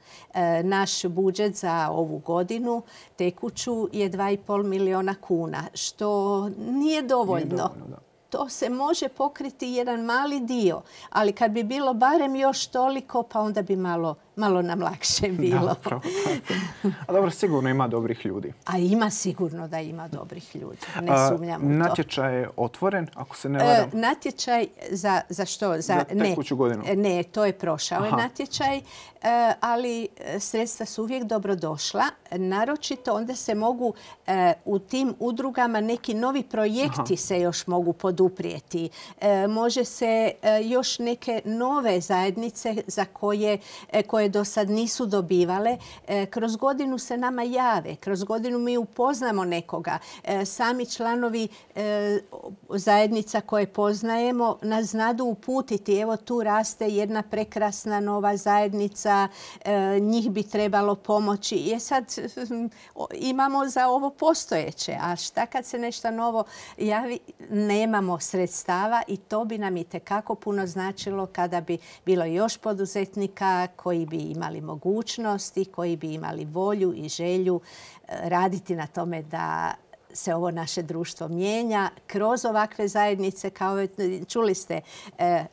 Naš budžet za ovu godinu tekuću je 2,5 miliona kuna, što nije dovoljno. To se može pokriti jedan mali dio, ali kad bi bilo barem još toliko, pa onda bi malo nam lakše bilo. A dobro, sigurno ima dobrih ljudi. A ima sigurno da ima dobrih ljudi. Ne sumnjam u to. Natječaj je otvoren, ako se ne varam? Natječaj za što? Za tekuću godinu? Ne, to je prošao je natječaj, ali sredstva su uvijek dobrodošla. Naročito onda se mogu u tim udrugama neki novi projekti se još mogu poduprijeti. Može se još neke nove zajednice za koje do sad nisu dobivale. Kroz godinu se nama jave. Kroz godinu mi upoznamo nekoga. Sami članovi zajednica koje poznajemo nas znadu uputiti. Evo tu raste jedna prekrasna nova zajednica. Njih bi trebalo pomoći. Je sad imamo za ovo postojeće. A šta kad se nešto novo javi? Nemamo sredstava i to bi nam itekako puno značilo kada bi bilo još poduzetnika koji bi imali mogućnosti, koji bi imali volju i želju raditi na tome da se ovo naše društvo mijenja kroz ovakve zajednice. Kao čuli ste,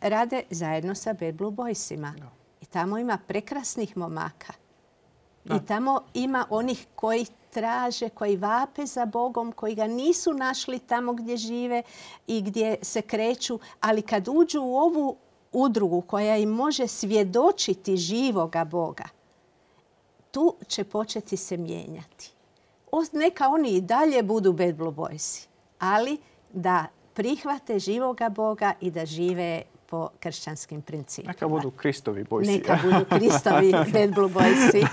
rade zajedno sa Bad Blue Boysima. I tamo ima prekrasnih momaka. I tamo ima onih koji traže, koji vape za Bogom, koji ga nisu našli tamo gdje žive i gdje se kreću. Ali kad uđu u ovu udrugu koja im može svjedočiti živoga Boga, tu će početi se mijenjati. Neka oni i dalje budu Bad Blue Boysi, ali da prihvate živoga Boga i da žive po kršćanskim principima. Neka budu Kristovi bojsi. Neka budu Kristovi Bad Blue Boysi.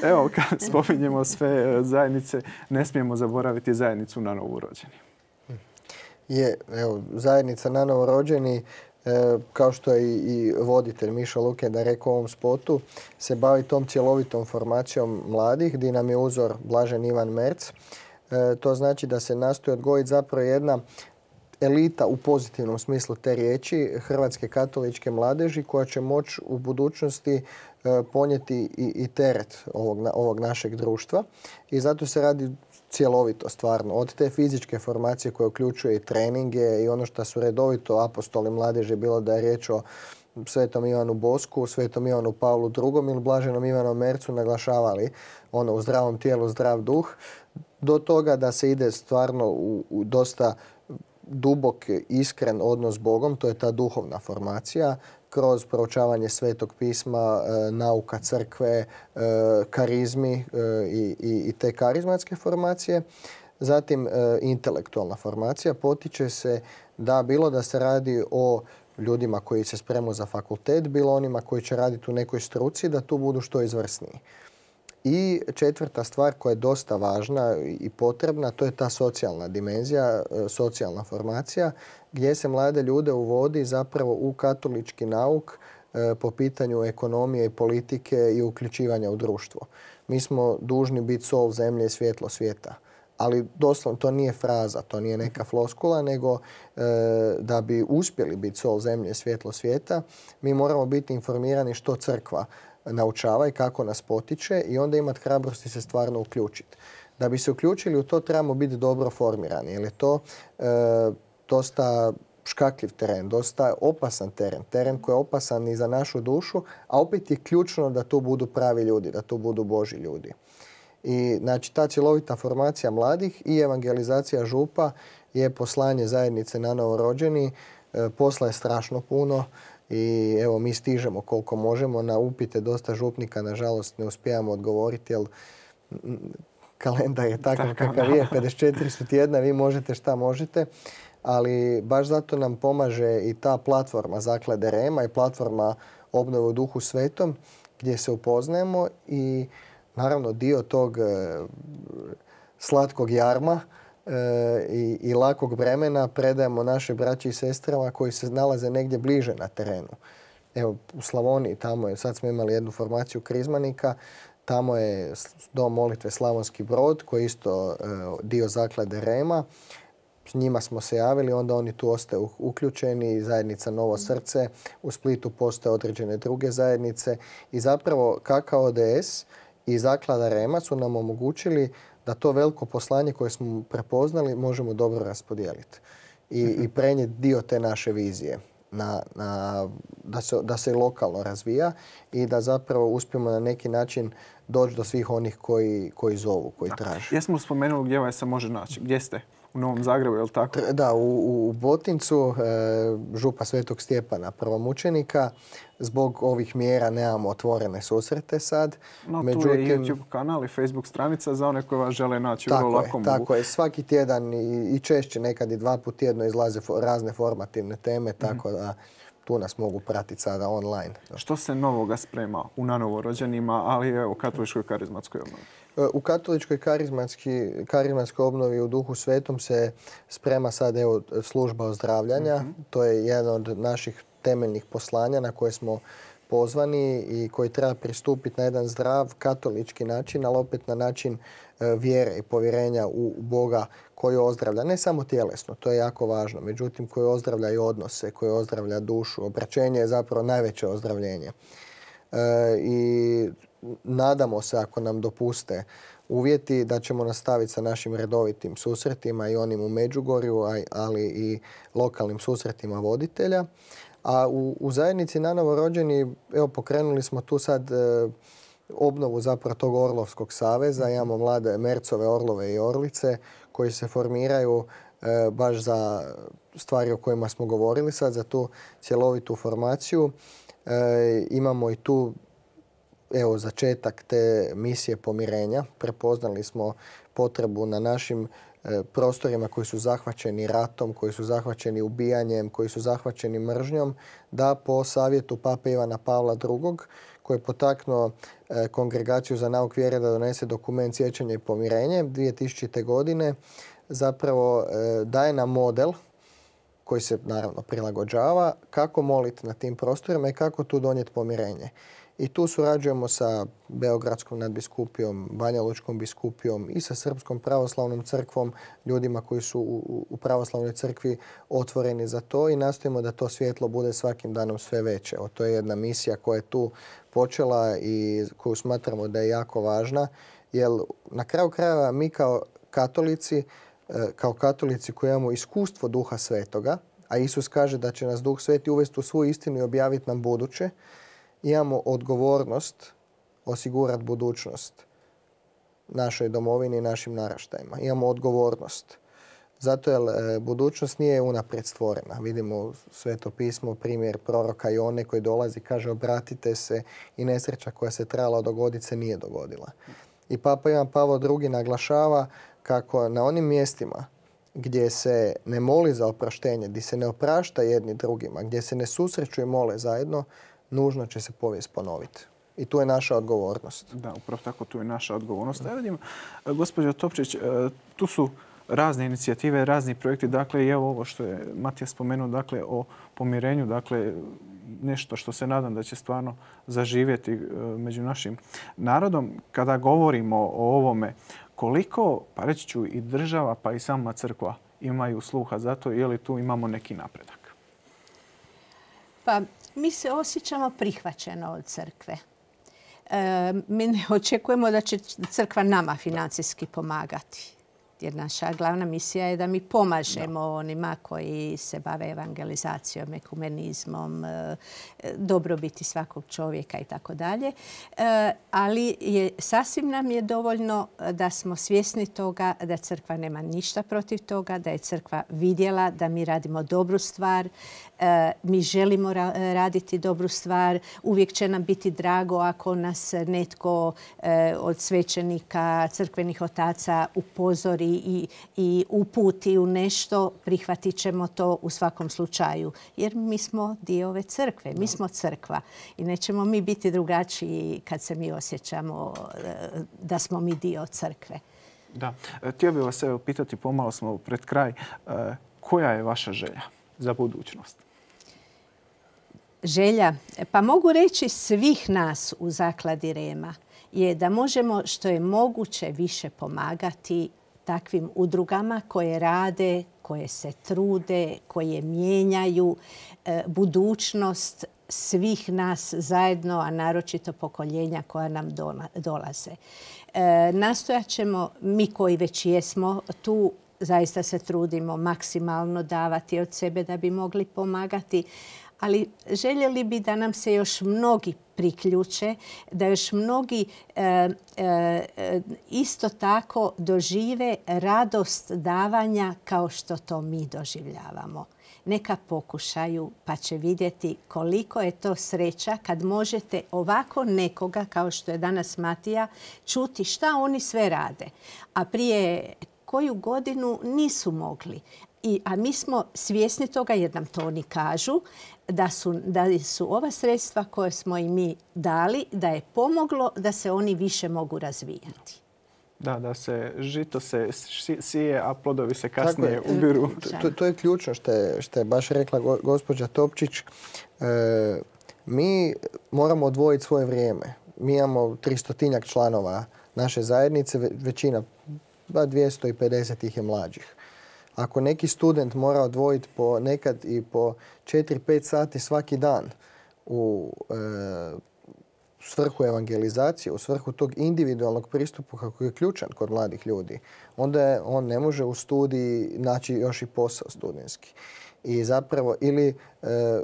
Evo, kad spominjemo sve zajednice, ne smijemo zaboraviti zajednicu na novorođeni. Zajednica na novorođeni, kao što je i voditelj Miša Lukenda rekao u ovom spotu, se bavi tom cjelovitom formacijom mladih, gdje nam je uzor Blažen Ivan Merc. To znači da se nastoji odgojiti zapravo jedna elita u pozitivnom smislu te riječi hrvatske katoličke mladeži koja će moći u budućnosti ponijeti i teret ovog našeg društva. I zato se radi cjelovito stvarno. Od te fizičke formacije koje uključuje i treninge i ono što su redovito apostoli mladeži, bilo da je riječ o Svetom Ivanu Bosku, Svetom Ivanu Pavlu II ili Blaženom Ivanu Mercu, naglašavali u zdravom tijelu zdrav duh, do toga da se ide stvarno u dosta dubok, iskren odnos s Bogom, to je ta duhovna formacija, kroz proučavanje Svetog pisma, nauka crkve, karizmi i te karizmatske formacije. Zatim intelektualna formacija potiče se da bilo da se radi o ljudima koji se spremaju za fakultet, bilo onima koji će raditi u nekoj struci, da tu budu što izvrsniji. I četvrta stvar koja je dosta važna i potrebna, to je ta socijalna dimenzija, socijalna formacija, gdje se mlade ljude uvodi zapravo u katolički nauk po pitanju ekonomije i politike i uključivanja u društvo. Mi smo dužni biti sol zemlje i svjetlo svijeta. Ali doslovno to nije fraza, to nije neka floskula, nego da bi uspjeli biti sol zemlje i svjetlo svijeta, mi moramo biti informirani što crkva naučava i kako nas potiče i onda imati hrabrosti se stvarno uključiti. Da bi se uključili u to trebamo biti dobro formirani, jer je to dosta škakljiv teren, dosta opasan teren. Teren koji je opasan i za našu dušu, a opet je ključno da tu budu pravi ljudi, da tu budu Božji ljudi. I znači ta cjelovita formacija mladih i evangelizacija župa je poslanje zajednice na novorođeni. Posla je strašno puno. I evo mi stižemo koliko možemo. Na upite dosta župnika nažalost ne uspijamo odgovoriti jer kalendar je takav kakav je. 54 su tjedna, vi možete šta možete. Ali baš zato nam pomaže i ta platforma Zaklade Rema i platforma Obnove u duhu svetom gdje se upoznajemo i naravno dio tog slatkog jarma i lakog vremena predajemo naše braći i sestrama koji se nalaze negdje bliže na terenu. Evo, u Slavoniji, tamo je, sad smo imali jednu formaciju krizmanika, tamo je dom molitve Slavonski Brod, koji je isto dio zaklade Rema. S njima smo se javili, onda oni tu ostaju uključeni, zajednica Novo Srce, u Splitu postoje određene druge zajednice i zapravo KKODS i zaklada Rema su nam omogućili da to veliko poslanje koje smo prepoznali možemo dobro raspodijeliti i prenijeti dio te naše vizije. Da se lokalno razvija i da zapravo uspijemo na neki način doći do svih onih koji zovu, koji traže. Jesmo spomenuli gdje vas se može naći? Gdje ste? U Novom Zagrebu, je li tako? Da, u Botincu, župa Svetog Stjepana prvomučenika. Zbog ovih mjera nemamo otvorene susrete sad. No, tu je YouTube kanal i Facebook stranica za one koji vas žele naći. Tako je. Svaki tjedan i češće, nekad i 2 puta tjedno izlaze razne formativne teme, tako da tu nas mogu pratiti sada online. Što se novoga sprema u nanovorođenima, ali i u katoličkoj karizmatskoj obnovi? U katoličkoj karizmatskoj obnovi u Duhu Svetom se sprema sad služba ozdravljanja. To je jedan od naših temeljnih poslanja na koje smo pozvani i koji treba pristupiti na jedan zdrav katolički način, ali opet na način vjere i povjerenja u Boga koji ozdravlja. Ne samo tjelesno, to je jako važno, međutim koji ozdravlja i odnose, koji ozdravlja dušu. Obraćenje je zapravo najveće ozdravljenje. I nadamo se, ako nam dopuste uvjeti, da ćemo nastaviti sa našim redovitim susretima i onim u Međugorju, ali i lokalnim susretima voditelja. A u zajednici na novorođeni, evo, pokrenuli smo tu sad obnovu zapravo tog Orlovskog saveza. Imamo mlade Mercove, Orlove i Orlice koji se formiraju baš za stvari o kojima smo govorili sad, za tu cjelovitu formaciju. Imamo i tu začetak te misije pomirenja. Prepoznali smo potrebu na našim prostorima koji su zahvaćeni ratom, koji su zahvaćeni ubijanjem, koji su zahvaćeni mržnjom, da po savjetu Pape Ivana Pavla II, koji je potaknuo Kongregaciju za nauk vjere da donese dokument Sjećanje i pomirenje 2000. godine, zapravo daje nam model koji se naravno prilagođava kako moliti na tim prostorima i kako tu donijeti pomirenje. I tu surađujemo sa Beogradskom nadbiskupijom, Banja Lučkom biskupijom i sa Srpskom pravoslavnom crkvom, ljudima koji su u pravoslavnoj crkvi otvoreni za to i nastojimo da to svjetlo bude svakim danom sve veće. To je jedna misija koja je tu počela i koju smatramo da je jako važna, jer na kraju krajeva mi kao katolici koji imamo iskustvo Duha Svetoga, a Isus kaže da će nas Duh Sveti uvesti u svu istinu i objaviti nam buduće, imamo odgovornost osigurati budućnost našoj domovini i našim naraštajima. Imamo odgovornost. Zato jer budućnost nije unaprijed stvorena. Vidimo u Sveto pismo primjer proroka Jone koji dolazi i kaže obratite se i nesreća koja se trebala dogoditi se nije dogodila. I Papa Ivan Pavao II naglašava kako na onim mjestima gdje se ne moli za oproštenje, gdje se ne oprašta jedni drugima, gdje se ne susreću i mole zajedno, nužno će se povijest ponoviti. I tu je naša odgovornost. Da, upravo tako, tu je naša odgovornost. Ja vidim, gospođo Topčić, tu su razne inicijative, razni projekti. Dakle, i evo ovo što je Matija spomenuo, dakle, o pomirenju, dakle, nešto što se nadam da će stvarno zaživjeti među našim narodom. Kada govorimo o ovome, koliko, pa reći ću, i država, pa i sama crkva imaju sluha za to, je li tu imamo neki napredak? Pa, mi se osjećamo prihvaćeno od crkve. Mi ne očekujemo da će crkva nama financijski pomagati. Jer naša glavna misija je da mi pomažemo onima koji se bave evangelizacijom, ekumenizmom, dobrobiti svakog čovjeka i tako dalje. Ali sasvim nam je dovoljno da smo svjesni toga da crkva nema ništa protiv toga, da je crkva vidjela da mi radimo dobru stvar, mi želimo raditi dobru stvar. Uvijek će nam biti drago ako nas netko od svećenika, crkvenih otaca upozori i uputi u nešto, prihvatit ćemo to u svakom slučaju. Jer mi smo dio ove crkve, mi smo crkva i nećemo mi biti drugačiji kad se mi osjećamo da smo mi dio crkve. Da. Htio bih vas pitati, pomalo smo pred kraj, koja je vaša želja za budućnost? Želja, pa mogu reći svih nas u Zakladi Rema, je da možemo što je moguće više pomagati takvim udrugama koje rade, koje se trude, koje mijenjaju budućnost svih nas zajedno, a naročito pokoljenja koja nam dolaze. Nastojat ćemo, mi koji već jesmo tu, zaista se trudimo maksimalno davati od sebe da bi mogli pomagati, ali željeli bi da nam se još mnogi priključe, da još mnogi isto tako dožive radost davanja kao što to mi doživljavamo. Neka pokušaju pa će vidjeti koliko je to sreća kad možete ovako nekoga, kao što je danas Matija, čuti šta oni sve rade. A prije koju godinu nisu mogli. A mi smo svjesni toga jer nam to oni kažu, da su ova sredstva koje smo i mi dali, da je pomoglo da se oni više mogu razvijati. Da se žito se sije, a plodovi se kasnije ubiru. To je ključno što je baš rekla gospođa Topčić. Mi moramo odvojiti svoje vrijeme. Mi imamo 300-tinjak članova naše zajednice, većina, 250 ih je mlađih. Ako neki student mora odvojiti nekad i po 4-5 sati svaki dan u svrhu evangelizacije, u svrhu tog individualnog pristupa kako je ključan kod mladih ljudi, onda on ne može u studiji naći još i posao studentski. I zapravo, ili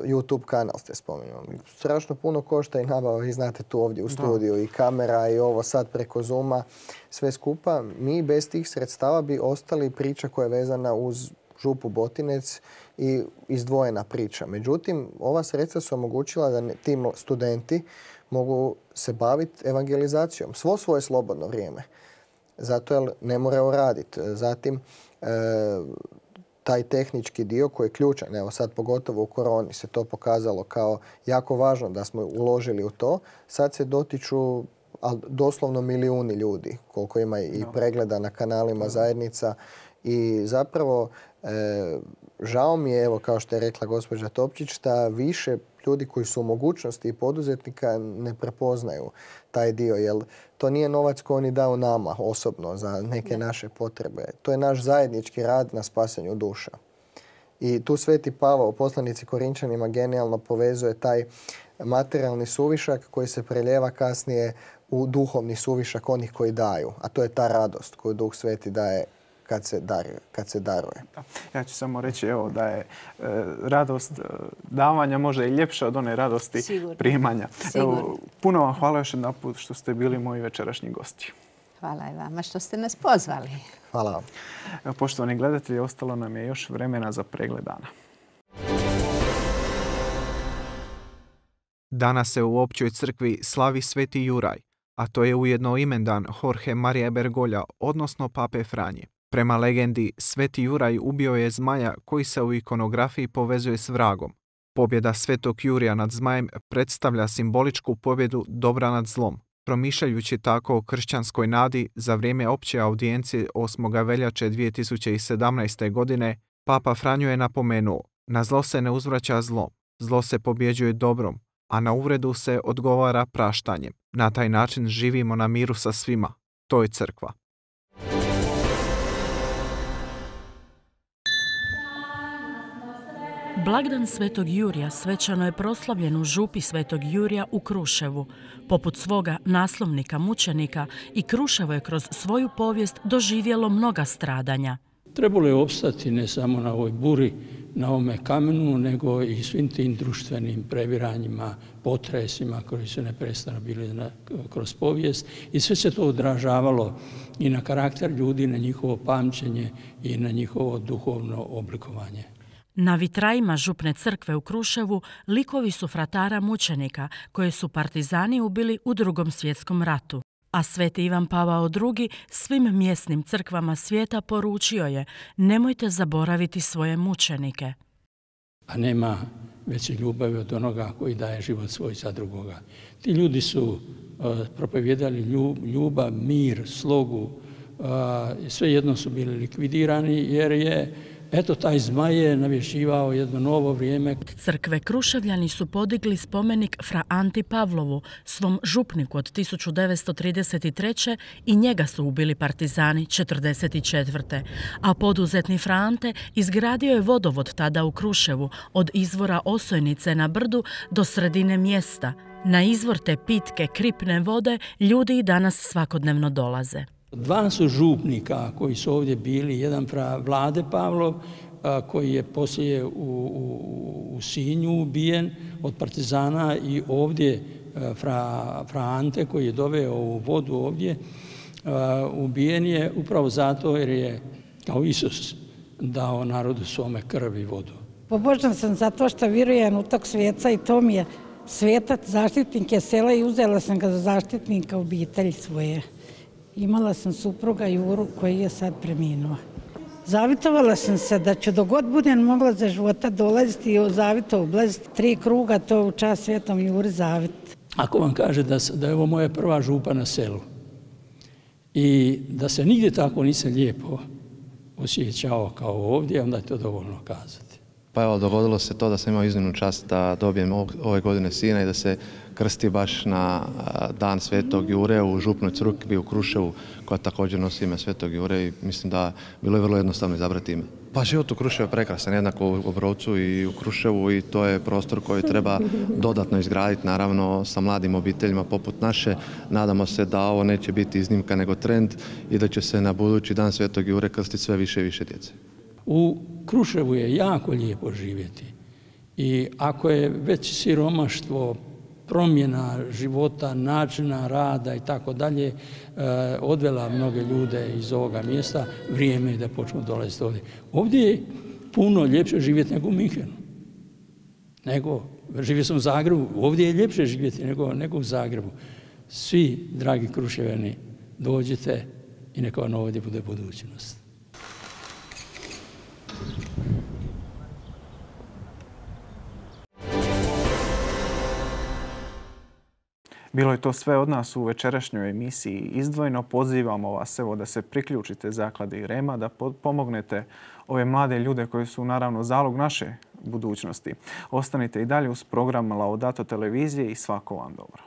YouTube kanal ste spomenuli. Strašno puno košta i nabava, vi znate tu ovdje u studiju, i kamera i ovo sad preko Zooma, sve skupa. Mi bez tih sredstava bi ostali priča koja je vezana uz župu Botinec i izdvojena priča. Međutim, ova sredstva su omogućila da ti studenti mogu se baviti evangelizacijom svo svoje slobodno vrijeme. Zato jer ne moraju raditi. Zatim, taj tehnički dio koji je ključan, evo sad pogotovo u koroni se to pokazalo kao jako važno da smo uložili u to, sad se dotiču doslovno milijuni ljudi, koliko ima i pregleda na kanalima zajednica. I zapravo žao mi je, evo kao što je rekla gospođa Topčić, da više ljudi koji su u mogućnosti i poduzetnika ne prepoznaju taj dio, jer to nije novac koji oni daju nama osobno za neke naše potrebe. To je naš zajednički rad na spasenju duša. I tu Sveti Pavao u poslanici Korinčanima genijalno povezuje taj materijalni suvišak koji se preljeva kasnije u duhovni suvišak onih koji daju. A to je ta radost koju Duh Sveti daje kad se daruje. Ja ću samo reći da je radost davanja možda i ljepša od one radosti primanja. Puno vam hvala još jedan put što ste bili moji večerašnji gosti. Hvala i vama što ste nas pozvali. Hvala vam. Poštovani gledatelji, ostalo nam je još vremena za pregled dana. Danas se u Općoj crkvi slavi Sveti Juraj, a to je ujedno imendan Jorge Maria Bergoglja, odnosno Pape Franje. Prema legendi, Sveti Juraj ubio je zmaja koji se u ikonografiji povezuje s vragom. Pobjeda Svetog Jurija nad zmajem predstavlja simboličku pobjedu dobra nad zlom. Promišljajući tako o kršćanskoj nadi za vrijeme opće audijencije 8. veljače 2017. godine, Papa Franjo je napomenuo: na zlo se ne uzvraća zlo, zlo se pobjeđuje dobrom, a na uvredu se odgovara praštanjem. Na taj način živimo na miru sa svima. To je crkva. Blagdan Svetog Jurija svečano je proslavljen u župi Svetog Jurija u Kruševu. Poput svoga naslovnika mučenika, i Kruševo je kroz svoju povijest doživjelo mnoga stradanja. Trebalo je opstati ne samo na ovoj buri, na ovome kamenu, nego i svim tim društvenim previranjima, potresima koji su neprestano bili kroz povijest. I sve se to odražavalo i na karakter ljudi, na njihovo pamćenje i na njihovo duhovno oblikovanje. Na vitrajima župne crkve u Kruševu likovi su fratara mučenika koje su partizani ubili u Drugom svjetskom ratu. A Sveti Ivan Pavao II svim mjesnim crkvama svijeta poručio je: nemojte zaboraviti svoje mučenike. A nema veće ljubavi od onoga koji daje život svoj za drugoga. Ti ljudi su propovijedali ljubav, mir, slogu, svejedno su bili likvidirani jer je taj zmaj je navješćivao jedno novo vrijeme. Crkve Kruševljani su podigli spomenik fra Anti Pavlovu, svom župniku od 1933. i njega su ubili partizani 1944. A poduzetni fra Ante izgradio je vodovod tada u Kruševu od izvora Osojnice na brdu do sredine mjesta. Na izvor te pitke kripne vode ljudi i danas svakodnevno dolaze. Dva su župnika koji su ovdje bili, jedan fra Vlade Pavlov koji je poslije u Sinju ubijen od partizana i ovdje fra Ante koji je doveo ovu vodu ovdje, ubijen je upravo zato jer je kao Isus dao narodu svome krv i vodu. Pobožan sam zato što vjerujem u tog svijeca i to mi je svetac, zaštitnik je sela i uzela sam ga za zaštitnika obitelji svoje. Imala sam supruga Juru koji je sad preminuo. Zavitovala sam se da ću dok god budem mogla za života dolaziti i zavito oblaziti 3 kruga, to u čast Svetom Juri zavit. Ako vam kaže da je ovo moja prva župa na selu i da se nigdje tako nisam lijepo osjećao kao ovdje, onda je to dovoljno kazati. Pa evo, dogodilo se to da sam imao iznimnu čast da dobijem ove godine sina i da se krsti baš na dan Svetog Jure u župnoj crkvi u Kruševu, koja također nosi ime Svetog Jure i mislim da bilo je vrlo jednostavno izabrati ime. Pa život u Kruševu je prekrasan, jednako u Obrovcu i u Kruševu i to je prostor koji treba dodatno izgraditi, naravno sa mladim obiteljima poput naše. Nadamo se da ovo neće biti iznimka nego trend i da će se na budući dan Svetog Jure krstiti sve više i više djece. U Kruševu je jako lijepo živjeti i ako je već siromaštvo, promjena života, načina rada i tako dalje odvela mnoge ljude iz ovoga mjesta, vrijeme je da počnu dolaziti ovdje. Ovdje je puno ljepše živjeti nego u Minhenu. Živio sam u Zagrebu, ovdje je ljepše živjeti nego u Zagrebu. Svi, dragi Kruševljani, dođite i neka vam ovdje bude budućnost. Bilo je to sve od nas u večerašnjoj emisiji Izdvojeno. Pozivamo vas da se priključite Zakladi Rema, da pomognete ove mlade ljude koji su naravno zalog naše budućnosti. Ostanite i dalje uz program Laudato televizije i svako vam dobro.